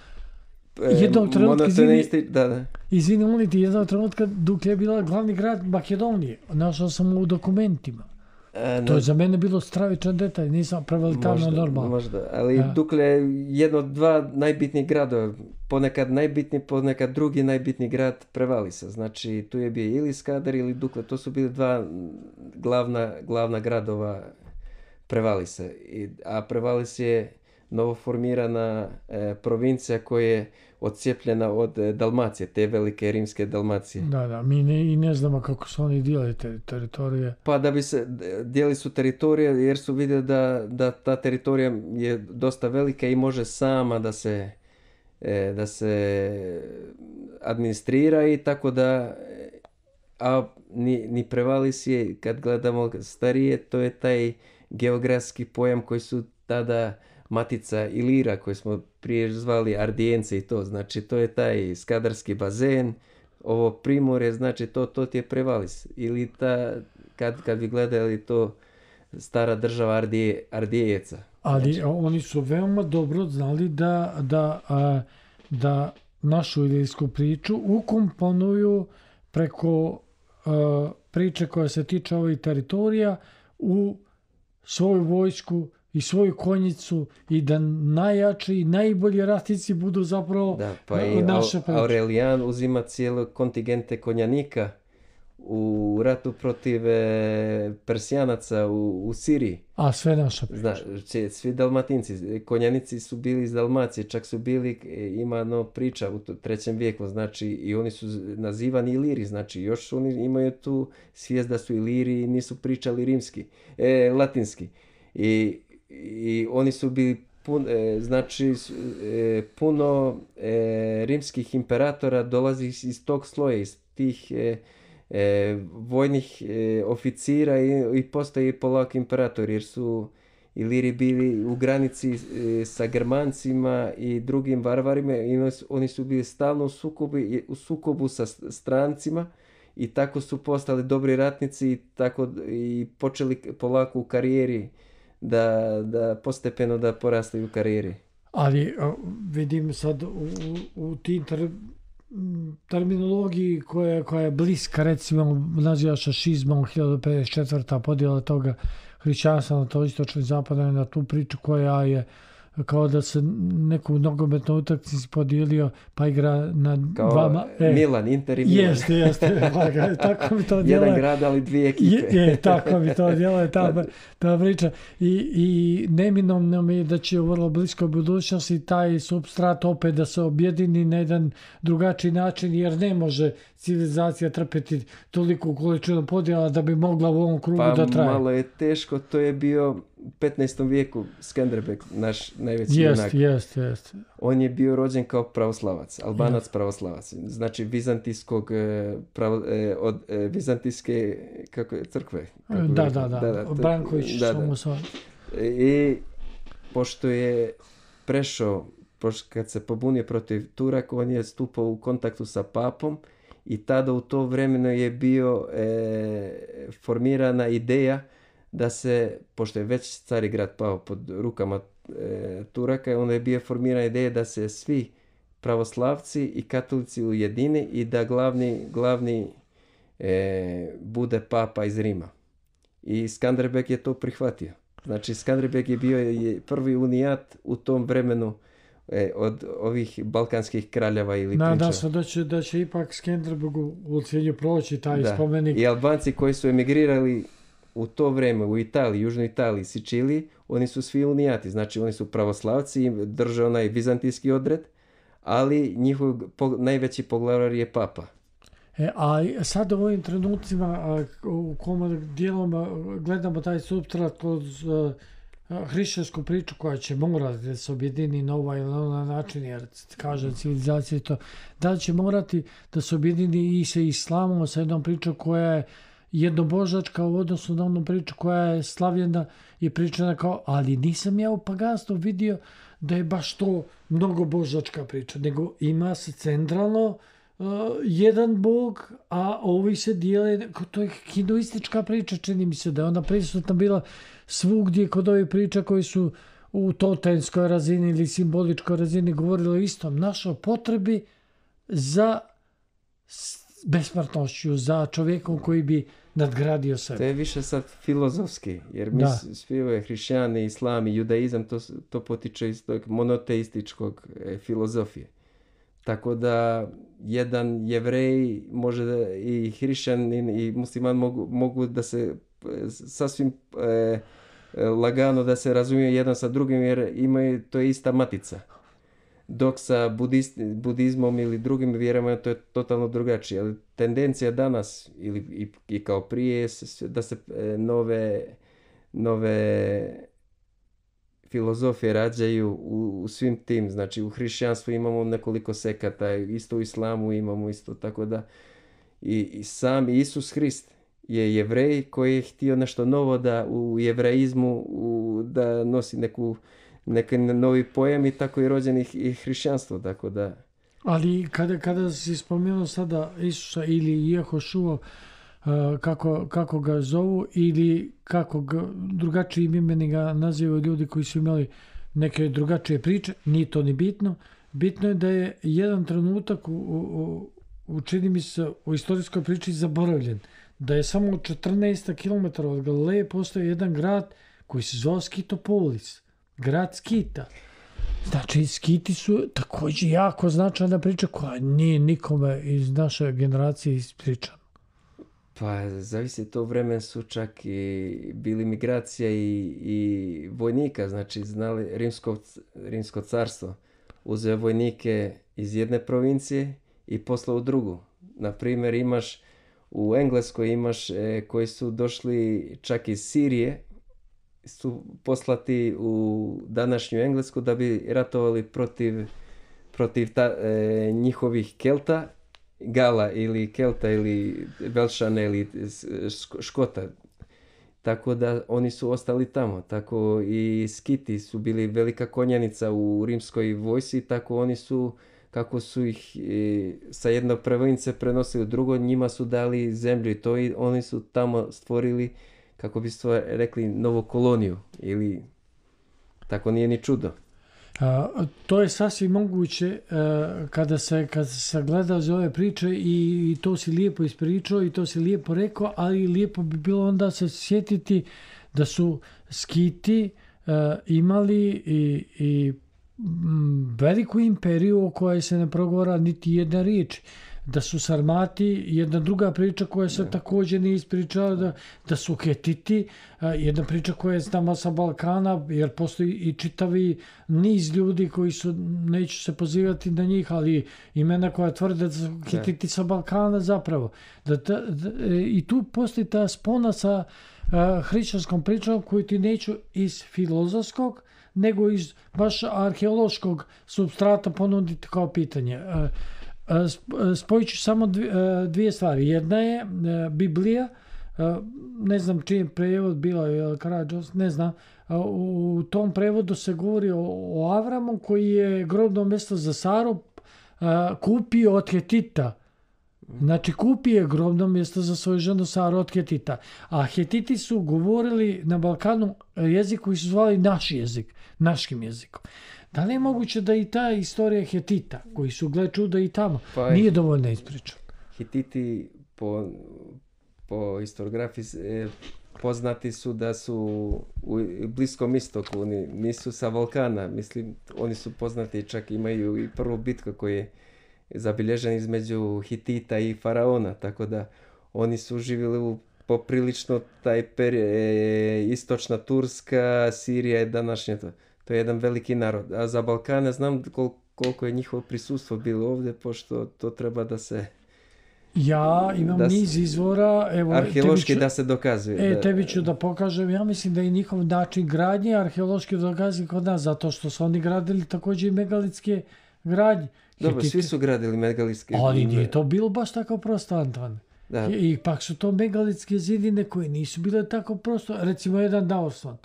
Jednog trenutka, izvini, isti, da, da. izvini, molim ti, jednog trenutka Duklja je bila glavni grad Makedonije. Našao sam u dokumentima. A, to je za mene bilo stravičan detalj, nisam prevelitarno normalno. Možda, ali a. Duklja je jedno od dva najbitnijih gradova, ponekad najbitniji, ponekad drugi najbitniji grad Prevalisa. Znači tu je bio ili Skadar ili Duklja, to su bili dva glavna, glavna gradova Prevalisa. I, a Prevalis je novoformirana e, provincija koja je odcijepljena od e, Dalmacije, te velike rimske Dalmacije. Da, da, mi ne, i ne znamo kako su oni dijeli te teritorije. Pa da bi se, dijeli su teritorije jer su vidjeli da, da ta teritorija je dosta velika i može sama da se, e, da se administrira i tako da, a ni, ni Prevalis je, kad gledamo starije, to je taj geografski pojam koji su tada Matica Ilira, koji smo prije zvali Ardijence i to, znači to je taj skadarski bazen, ovo primorje, znači to, to ti je Prevalis. Ili ta, kad, kad bi gledali to stara država Ardije, Ardijeca. Ali znači, oni su veoma dobro znali da, da, a, da našu ilijsku priču ukomponuju preko a, priče koja se tiče ovih teritorija u svoju vojsku i svoju konjicu i da najjači i najbolji ratnici budu zapravo da, pa i naše priče. Aurelijan uzima cijelo kontingente konjanika u ratu protiv e, Persijanaca u, u Siriji. A sve naša priča. Zna, svi Dalmatinci, konjanici su bili iz Dalmacije, čak su bili, ima no priča u trećem vijeku, znači i oni su nazivani Iliri, znači još oni imaju tu svijest da su Iliri i nisu pričali rimski, e, latinski. I I oni su bili pun, e, znači e, puno e, rimskih imperatora dolazi iz tog sloja, iz tih e, e, vojnih e, oficira i, i postaje polako imperator jer su Iliri bili u granici e, sa Germancima i drugim varvarima i oni su bili stalno u sukobu, u sukobu sa strancima i tako su postali dobri ratnici i, tako, i počeli polako u karijeri da, da postepeno da porastaju u karijeri. Ali vidim sad u, u tim ter, terminologiji koja, koja je bliska, recimo naziva šašizmom, hiljadu pedeset četvrta podjela toga hrišćanstva na to istočno i zapadno, na tu priču koja je kao da se neku nogometnu utakmicu podijelio pa igra na kao dva... E, Milan, Inter i Milan. Jeste, jeste. Tako mi to djeluje. Jedan grad, ali dvije ekipe. Je, je tako mi to djeluje ta, ta priča. I, i neminovno mi je da će u vrlo bliskoj budućnosti taj supstrat opet da se objedini na jedan drugačiji način, jer ne može civilizacija trpeti toliku količinu podjela da bi mogla u ovom krugu pa, da traje. Pa malo je teško, to je bio u petnaestom vijeku Skanderbeg, naš najveći junak. Jest, jest, jest. On je bio rođen kao pravoslavac, Albanac pravoslavac, znači vizantijskog pravo, od vizantijske kako je, crkve. Kako da, da, da, da, Branković da, da. I pošto je prešao, pošto kad se pobunio protiv Turaka, on je stupao u kontaktu sa papom i tada u to vremeno je bio e, formirana ideja da se, pošto je već Carigrad pao pod rukama e, Turaka, onda je bio formirana ideja da se svi pravoslavci i katolici ujedine i da glavni, glavni e, bude papa iz Rima. I Skanderbeg je to prihvatio. Znači Skanderbeg je bio je prvi unijat u tom vremenu e, od ovih balkanskih kraljeva ili prinčeva. Nadam se da će, da će ipak Skanderbegu u cilju proći taj da. spomenik. I Albanci koji su emigrirali u to vrijeme u Italiji, Južnoj Italiji, Siciliji, oni su svi unijati, znači oni su pravoslavci i drže onaj vizantijski odred, ali njihov po, najveći poglavar je papa. E, a sad u ovim trenucima u kom dijelom gledamo taj supstrat kroz uh, hrišćansku priču koja će morati da se objedini na ovaj ili na način, jer kaže civilizacija to, da li će morati da se objedini i sa islamom, sa jednom pričom koja je jednobožačka u odnosu na onu priču koja je slavljena i pričana kao, ali nisam ja u paganstvu vidio da je baš to mnogobožačka priča, nego ima se centralno uh, jedan bog, a ovi se dijele, to je hinduistička priča, čini mi se da je ona prisutna bila svugdje kod ovih priča koji su u totemskoj razini ili simboličkoj razini govorili o istom, našoj potrebi za besmrtnošću, za čovjekom koji bi nadgradio sebe. To je više sad filozofski, jer mi svi ove hrišćani, islam i judaizam, to, to potiče iz tog monoteističkog e, filozofije. Tako da jedan jevrej može da, i hrišćanin i musliman mogu, mogu da se e, sasvim e, lagano da se razumiju jedan sa drugim, jer imaju, to je ista matica. Dok sa budist, budizmom ili drugim vjerama to je totalno drugačije. Ali tendencija danas ili i, i kao prije da se nove, nove filozofije rađaju u, u svim tim. Znači u hrišćanstvu imamo nekoliko sekata, isto u islamu imamo isto, tako da i, i sam Isus Hrist je jevrej koji je htio nešto novo da u jevreizmu u, da nosi neku neki novi pojam i tako i rođen i hrišćanstvo, tako da... Ali kada, kada si spomenuo sada Isusa ili Jehošua, uh, kako, kako ga zovu ili kako ga, drugačijim imeni ga nazivaju ljudi koji su imali neke drugačije priče, nije to ni bitno. Bitno je da je jedan trenutak u, u, u čini mi se u istorijskoj priči zaboravljen. Da je samo četrnaest kilometara od Galileje postoji jedan grad koji se zove Skitopolis. Grad Skita. Znači, Skiti su također jako značajna priča koja nije nikome iz naše generacije ispričana. Pa, zavisi to vremen su čak i bili migracija i, i vojnika, znači znali rimsko, rimsko carstvo uzeo vojnike iz jedne provincije i poslao u drugu. Naprimjer, imaš u Engleskoj imaš e, koji su došli čak iz Sirije, su poslati u današnju Englesku da bi ratovali protiv, protiv ta, e, njihovih Kelta, Gala ili Kelta ili Velšana ili Škota. tako da oni su ostali tamo. Tako i Skiti su bili velika konjanica u rimskoj vojsci, tako oni su, kako su ih e, sa jednog province prenosili u drugo, njima su dali zemlju i to i oni su tamo stvorili, kako bi stvar, rekli, novu koloniju. Ili tako nije ni čudo. A, to je sasvim moguće a, kada se kada se sagleda za ove priče i, i to si lijepo ispričao i to si lijepo rekao, ali lijepo bi bilo onda se sjetiti da su Skiti a, imali i, i m, veliku imperiju o kojoj se ne progovara niti jedna riječ. Da su Sarmati, jedna druga priča koja se također ne ispričala, da, da su Hetiti, jedna priča koja je znamo sa Balkana, jer postoji i čitavi niz ljudi koji su, neću se pozivati na njih, ali imena koja tvrde da su Hetiti sa Balkana zapravo. Da, da, da, i tu postoji ta spona sa a, hrišćanskom pričom koju ti neću iz filozofskog, nego iz baš arheološkog supstrata ponuditi kao pitanje. A, spojit ću samo dvije stvari. Jedna je Biblija, ne znam čiji je prevod bila, je Karađos, ne znam. U tom prevodu se govori o, o Avramu koji je grobno mjesto za Saru kupio od Hetita. Znači kupio je grobno mjesto za svoju ženu Saru od Hetita. A Hetiti su govorili na Balkanu jezik koji su zvali naš jezik, naškim jezikom. Da li je moguće da i ta istorija Hetita, koji su, gle čuda, i tamo, pa nije dovoljna ispriča? Hititi po, po historiografiji eh, poznati su da su u Bliskom istoku, oni nisu sa Balkana, mislim, oni su poznati, čak imaju i prvu bitku koja je zabilježena između Hitita i Faraona, tako da oni su živjeli u poprilično taj period, eh, istočna Turska, Sirija je današnje to. To je jedan veliki narod. A za Balkane znam kol, koliko je njihovo prisustvo bilo ovdje, pošto to treba da se... Ja imam da niz izvora. Evo, arheološki ću, da se dokazuje. E, da, tebi ću da pokažem. Ja mislim da je njihov način gradnje arheološki dokazuje kod nas, zato što su oni gradili također i megalitske gradnje. Dobro, Hititi. Svi su gradili megalitske. Ali nije to bilo baš tako prosto, Antone. Da. I, I pak su to megalitske zidine koje nisu bile tako prosto. Recimo jedan Daosvan.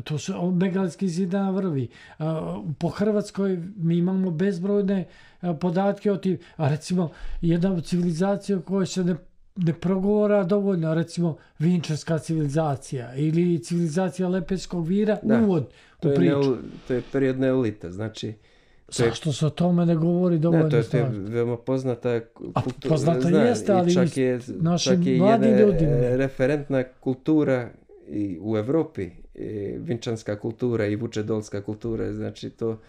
To su megalitski zida na vrvi. Po Hrvatskoj mi imamo bezbrojne podatke o tim, a recimo jedna civilizacija koja se ne, ne progovora dovoljno, recimo Vinčarska civilizacija ili civilizacija Lepenskog vira, da, uvod u priču. Neo, to je period neolita, znači... Zašto se o tome ne govori dovoljno? Ne, to je, to je veoma poznata kultura. Poznata zna, jeste, ali čak je, naši mladi ljudi. Referentna kultura i u Evropi. Vinčanska kultura i vučedolska kultura, znači to,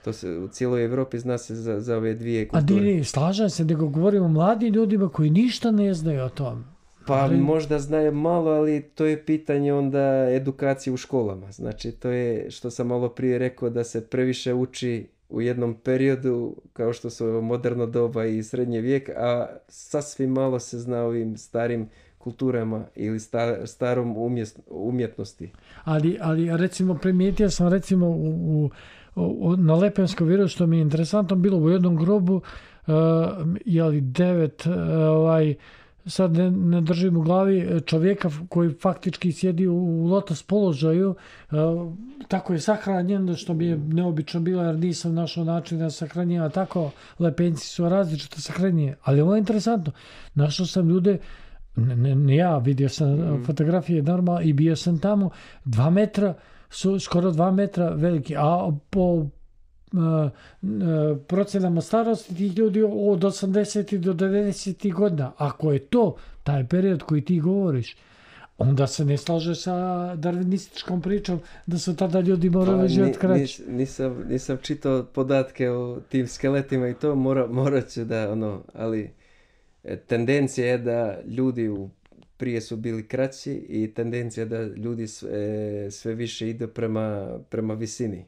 to se u cijeloj Evropi zna se za, za ove dvije kulture. A di, slažem se, nego govorimo o mladim ljudima koji ništa ne znaju o tom. Pa ali... možda znaju malo, ali to je pitanje onda edukacije u školama. Znači to je, što sam malo prije rekao, da se previše uči u jednom periodu, kao što su moderno doba i srednji vijek, a sasvim malo se zna ovim starim kulturama ili star, starom umjes, umjetnosti. Ali, ali recimo primijetio sam recimo u, u, u, na Lepenskom viru, što mi je interesantno bilo u jednom grobu, uh, jeli devet, uh, ovaj, sad ne, ne držim u glavi, čovjeka koji faktički sjedi u, u lotos položaju, uh, tako je sahranjen, što mi je neobično bilo jer nisam našao način da sahranjena tako, Lepenci su različito sahranjeni, ali ovo je interesantno, našao sam ljude. Ne, ne, ne ja, vidio sam mm. fotografije normalno i bio sam tamo, dva metra su skoro dva metra veliki, a po uh, uh, procenama starosti tih ljudi od osamdeset do devedeset godina, ako je to taj period koji ti govoriš, onda se ne slaže sa darvinističkom pričom da su tada ljudi morali pa, živjeti kraće. Nis, nisam, nisam čitao podatke o tim skeletima i to mora, morat ću da ono, ali tendencija je da ljudi u, prije su bili kraći i tendencija da ljudi sve, sve više ide prema, prema visini.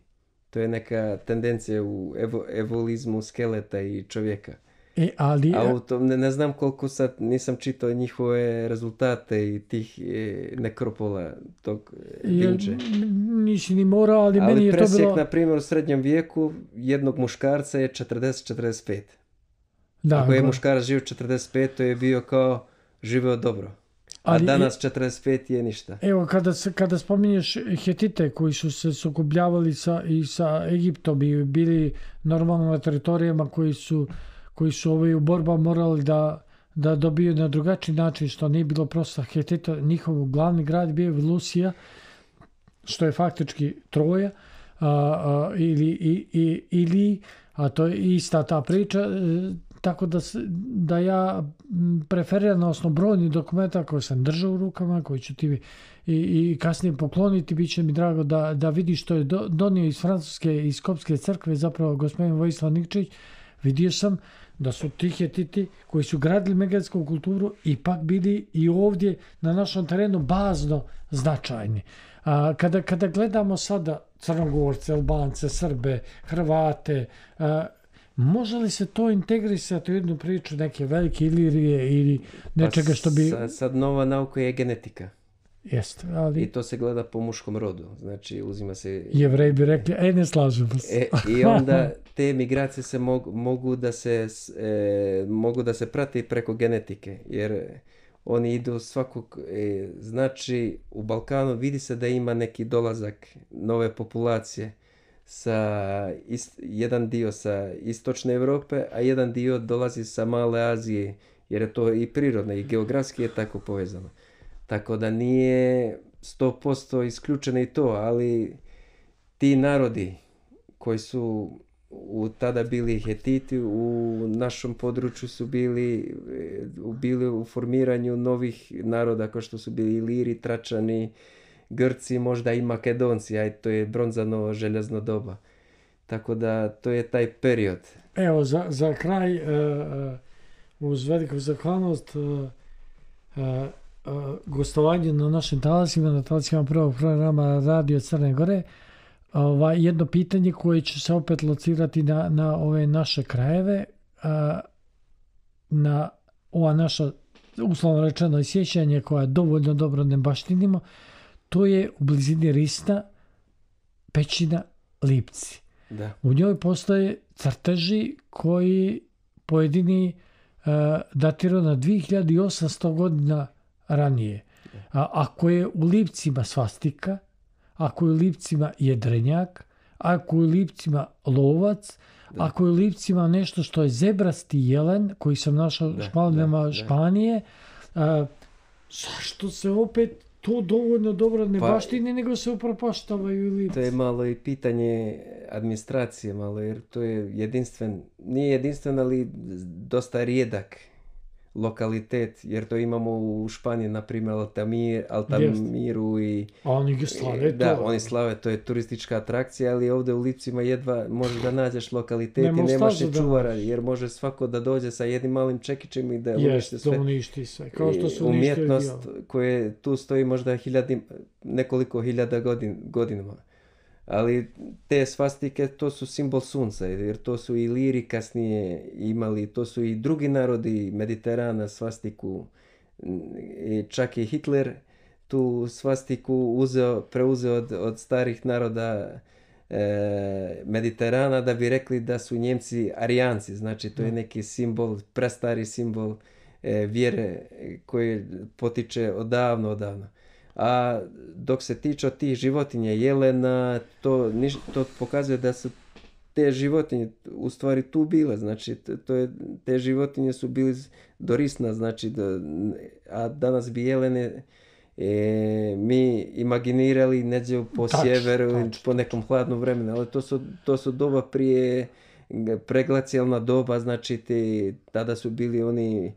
To je neka tendencija u evo, evolizmu skeleta i čovjeka. E, ali... A u tom, ne, ne znam koliko sad nisam čitao njihove rezultate i tih e, nekropola tog Vinče. Nisi ni morao, ali, ali meni je to bilo... Ali presjek, na primjer, u srednjem vijeku jednog muškarca je četrdeset do četrdeset pet. Da, ako je muškarac živio četrdeset pet, to je bio kao živeo dobro. Ali, a danas četrdeset pet je ništa. Evo, kada, se, kada spominješ Hetite koji su se sukobljavali sa, i sa Egiptom i bili normalno na teritorijama koji su, koji su ovaj, u borba morali da, da dobiju na drugačiji način, što nije bilo prosto Hetita, njihov glavni grad bio Lusija, što je faktički Troja, a, a, ili, i, i, ili, a to je ista ta priča, tako da, da ja preferiram na osnovu brojnih dokumenta koje sam držao u rukama, koji ću ti i, i kasnije pokloniti, bit će mi drago da, da vidiš što je do, donio iz Francuske i Skopske crkve, zapravo gospodin Vojislav Nikčić. Vidio sam da su ti Hetiti koji su gradili megadsku kulturu ipak bili i ovdje na našom terenu bazno značajni. A, kada, kada gledamo sada Crnogorce, Albance, Srbe, Hrvate, a, može li se to integrisati u jednu priču neke velike Ilirije ili nečega što bi... Pa sad nova nauka je genetika. Jeste, ali... I to se gleda po muškom rodu. Znači, uzima se... Jevreji bi rekli, e, ne slažemo se. E, I onda te migracije se mogu, mogu, da se, e, mogu da se prati preko genetike. Jer oni idu svakog... E, znači, u Balkanu vidi se da ima neki dolazak nove populacije. Sa ist, jedan dio sa istočne Europe, a jedan dio dolazi sa male Azije, jer je to i prirodno i geografski je tako povezano. Tako da nije sto posto isključeno i to, ali ti narodi koji su u tada bili Hetiti, u našem području su bili, bili u formiranju novih naroda kao što su bili Iliri, Tračani, Grci, možda i Makedonci, a to je bronzano željezno doba. Tako da to je taj period. Evo, za, za kraj, uh, uz veliku zahvalnost, uh, uh, uh, gostovanje na našim talasima, na talasima prvog programa Radio Crne Gore, uh, jedno pitanje koje će se opet locirati na, na ove naše krajeve, uh, na ova naša, uslovno rečeno, sjećanje koja dovoljno dobro ne baštinimo, to je u blizini Risna pećina Lipci. Da. U njoj postoje crteži koji pojedini uh, datiraju na dvije hiljade osamsto godina ranije. A, ako je u Lipcima svastika, ako je u Lipcima jedrenjak, ako je u Lipcima lovac, da. Ako je u Lipcima nešto što je zebrasti jelen, koji sam našao u Špalinama Španije, uh, zašto se opet to dovoljno dobro ne pa, baštini, nego se upropaštavaju Lipci? To je malo i pitanje administracije, malo, jer to je jedinstven, nije jedinstven, ali dosta rijedak lokalitet, jer to imamo u Španiji, na primjer, Altamir, Altamiru i... A oni slave to. Da, oni slave, to je turistička atrakcija, ali ovdje u Lipcima jedva možeš da nađeš lokalitet i nemaš i čuvara, jer može svako da dođe sa jednim malim čekićem i da uništi sve. Jest, uništi sve, kao što su umjetnost koje tu stoji možda hiljadi, nekoliko hiljada godin, godinama. Ali te svastike, to su simbol sunca, jer to su i Iliri kasnije imali, to su i drugi narodi Mediterana svastiku. I čak i Hitler tu svastiku uzeo, preuzeo od, od starih naroda e, Mediterana, da bi rekli da su Njemci Arijanci. Znači to je neki simbol, prestari simbol e, vjere koji potiče odavno, odavno. A dok se tiče tih životinja, jelena, to, to pokazuje da su te životinje u stvari tu bile. Znači, to je, te životinje su bili do Risna, znači, do, a danas bi jelene e, mi imaginirali neđe po tač, sjeveru, tač, po nekom hladnom vremenu, ali to su, to su doba prije preglacijalna doba, znači, te, tada su bili oni...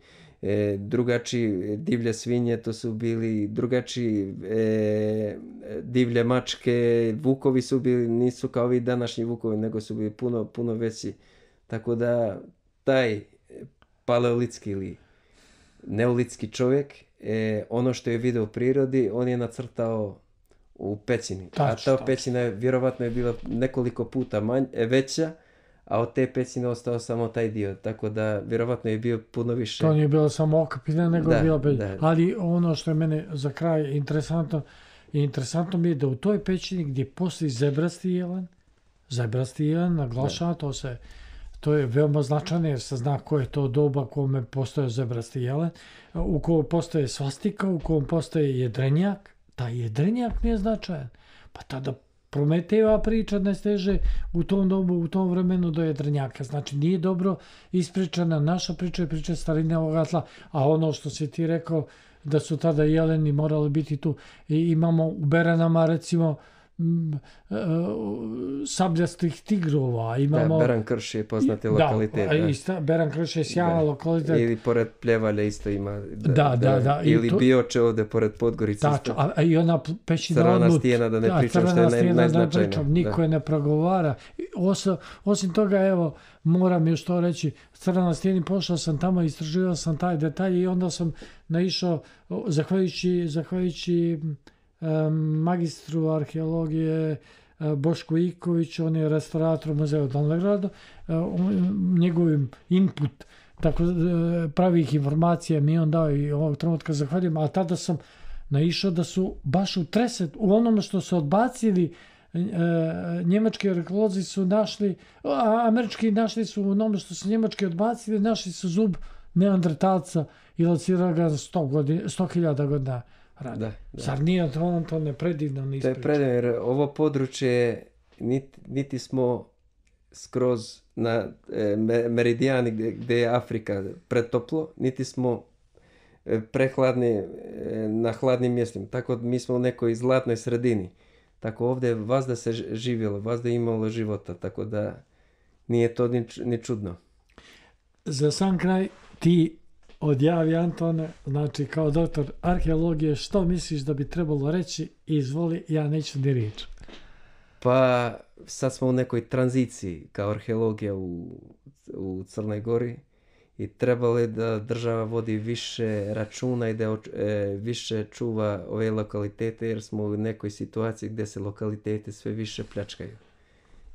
E, drugačiji divlje svinje, to su bili drugačiji e, divlje mačke, vukovi su bili, nisu kao ovi današnji vukovi, nego su bili puno, puno veći. Tako da taj paleolitski ili neolitski čovjek, e, ono što je vidio u prirodi, on je nacrtao u pećini. Tač, a ta pećina je, vjerovatno je bila nekoliko puta manj, veća, a od te pećine ostao samo taj dio, tako da vjerovatno je bio puno više. To nije bilo samo okapina, nego da, bilo bez... Ali ono što je mene za kraj interesantno, interesantno mi je da u toj pećini gdje postoji zebrasti jelen, zebrasti jelen, naglašava, to se, to je veoma značajno jer se zna ko je to doba u kome postoje zebrasti jelen, u kojem postoje svastika, u kojem postoje jedrenjak. Taj jedrenjak nije značajan. Pa tada Prometejeva priča ne steže u tom dobu, u tom vremenu do jedrenjaka. Znači nije dobro ispričana naša priča i priča starine ovoga tla, a ono što si ti rekao da su tada jeleni morali biti tu. I imamo u Beranama recimo m, e, sabljastih tigrova. Imamo, da, Beran Krš je poznati lokalitet. Da, ista, Beran Krš je sjajan lokalitet. Ili pored Pljevalja isto ima. Da, da, da. da ili to, Bioče ovde pored Podgorice. Tačno, a, a i ona pećina Crvena odnut. stijena, da ne da, pričam što je naj, najznačajno. Niko je ne progovara. Osim, osim toga, evo, moram još to reći, Crvena stijena, pošao sam tamo, istraživao sam taj detalj i onda sam naišao, zahvaljujući, zahvaljujući um, magistru arheologije uh, Bošku Iković, on je restaurator muzeja u Dolnegradu, uh, njegovim input tako pravih informacija mi on dao i ovog trenutka zahvaljujem, a tada sam naišao da su baš u treset, u onome što su odbacili e, njemački arheolozi su našli, a američki našli su u onome što su njemački odbacili, našli su zub neandertalca i locirali ga sto hiljada godina radi. Da, da. Zar nije to, to ne predivno ne ispriča? To je predivno, jer ovo područje niti, niti smo skroz na e, meridijani gdje, gdje je Afrika pretoplo, niti smo e, prehladni e, na hladnim mjestima. Tako mi smo u nekoj zlatnoj sredini. Tako ovdje vazda se živjelo, vazda je imalo života, tako da nije to ni, ni čudno. Za sam kraj ti odjavi, Antone, znači kao doktor arheologije, što misliš da bi trebalo reći? Izvoli, ja neću ni riječ. Pa sad smo u nekoj tranziciji kao arheologija u, u Crnoj Gori i trebalo je da država vodi više računa i da e, više čuva ove lokalitete jer smo u nekoj situaciji gdje se lokalitete sve više pljačkaju.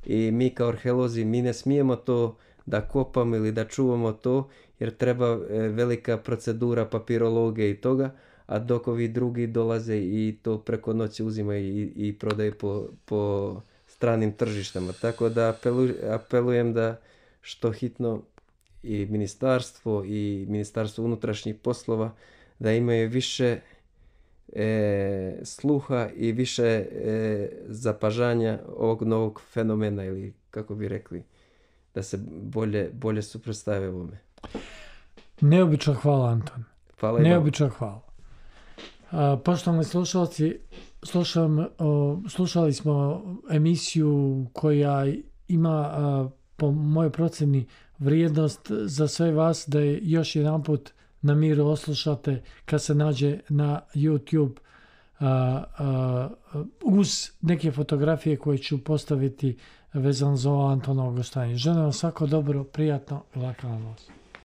I mi kao arheolozi mi ne smijemo to da kopamo ili da čuvamo to jer treba e, velika procedura papirologije i toga, a dok ovi drugi dolaze i to preko noći uzimaju i, i prodaju po, po stranim tržištama. Tako da apelu, apelujem da što hitno i ministarstvo i ministarstvo unutrašnjih poslova da imaju više e, sluha i više e, zapažanja ovog novog fenomena ili kako bi rekli da se bolje, bolje suprotstave ovome. Neobično hvala, Anton. Hvala Neobično hvala. Uh, poštovani slušalci, slušam, uh, slušali smo emisiju koja ima uh, po mojoj procjeni vrijednost za sve vas da je još jedan put na miru oslušate kad se nađe na YouTube uh, uh, uz neke fotografije koje ću postaviti vezano za ovo Antonovo gostovanje. Želim vam svako dobro, prijatno i laka noć.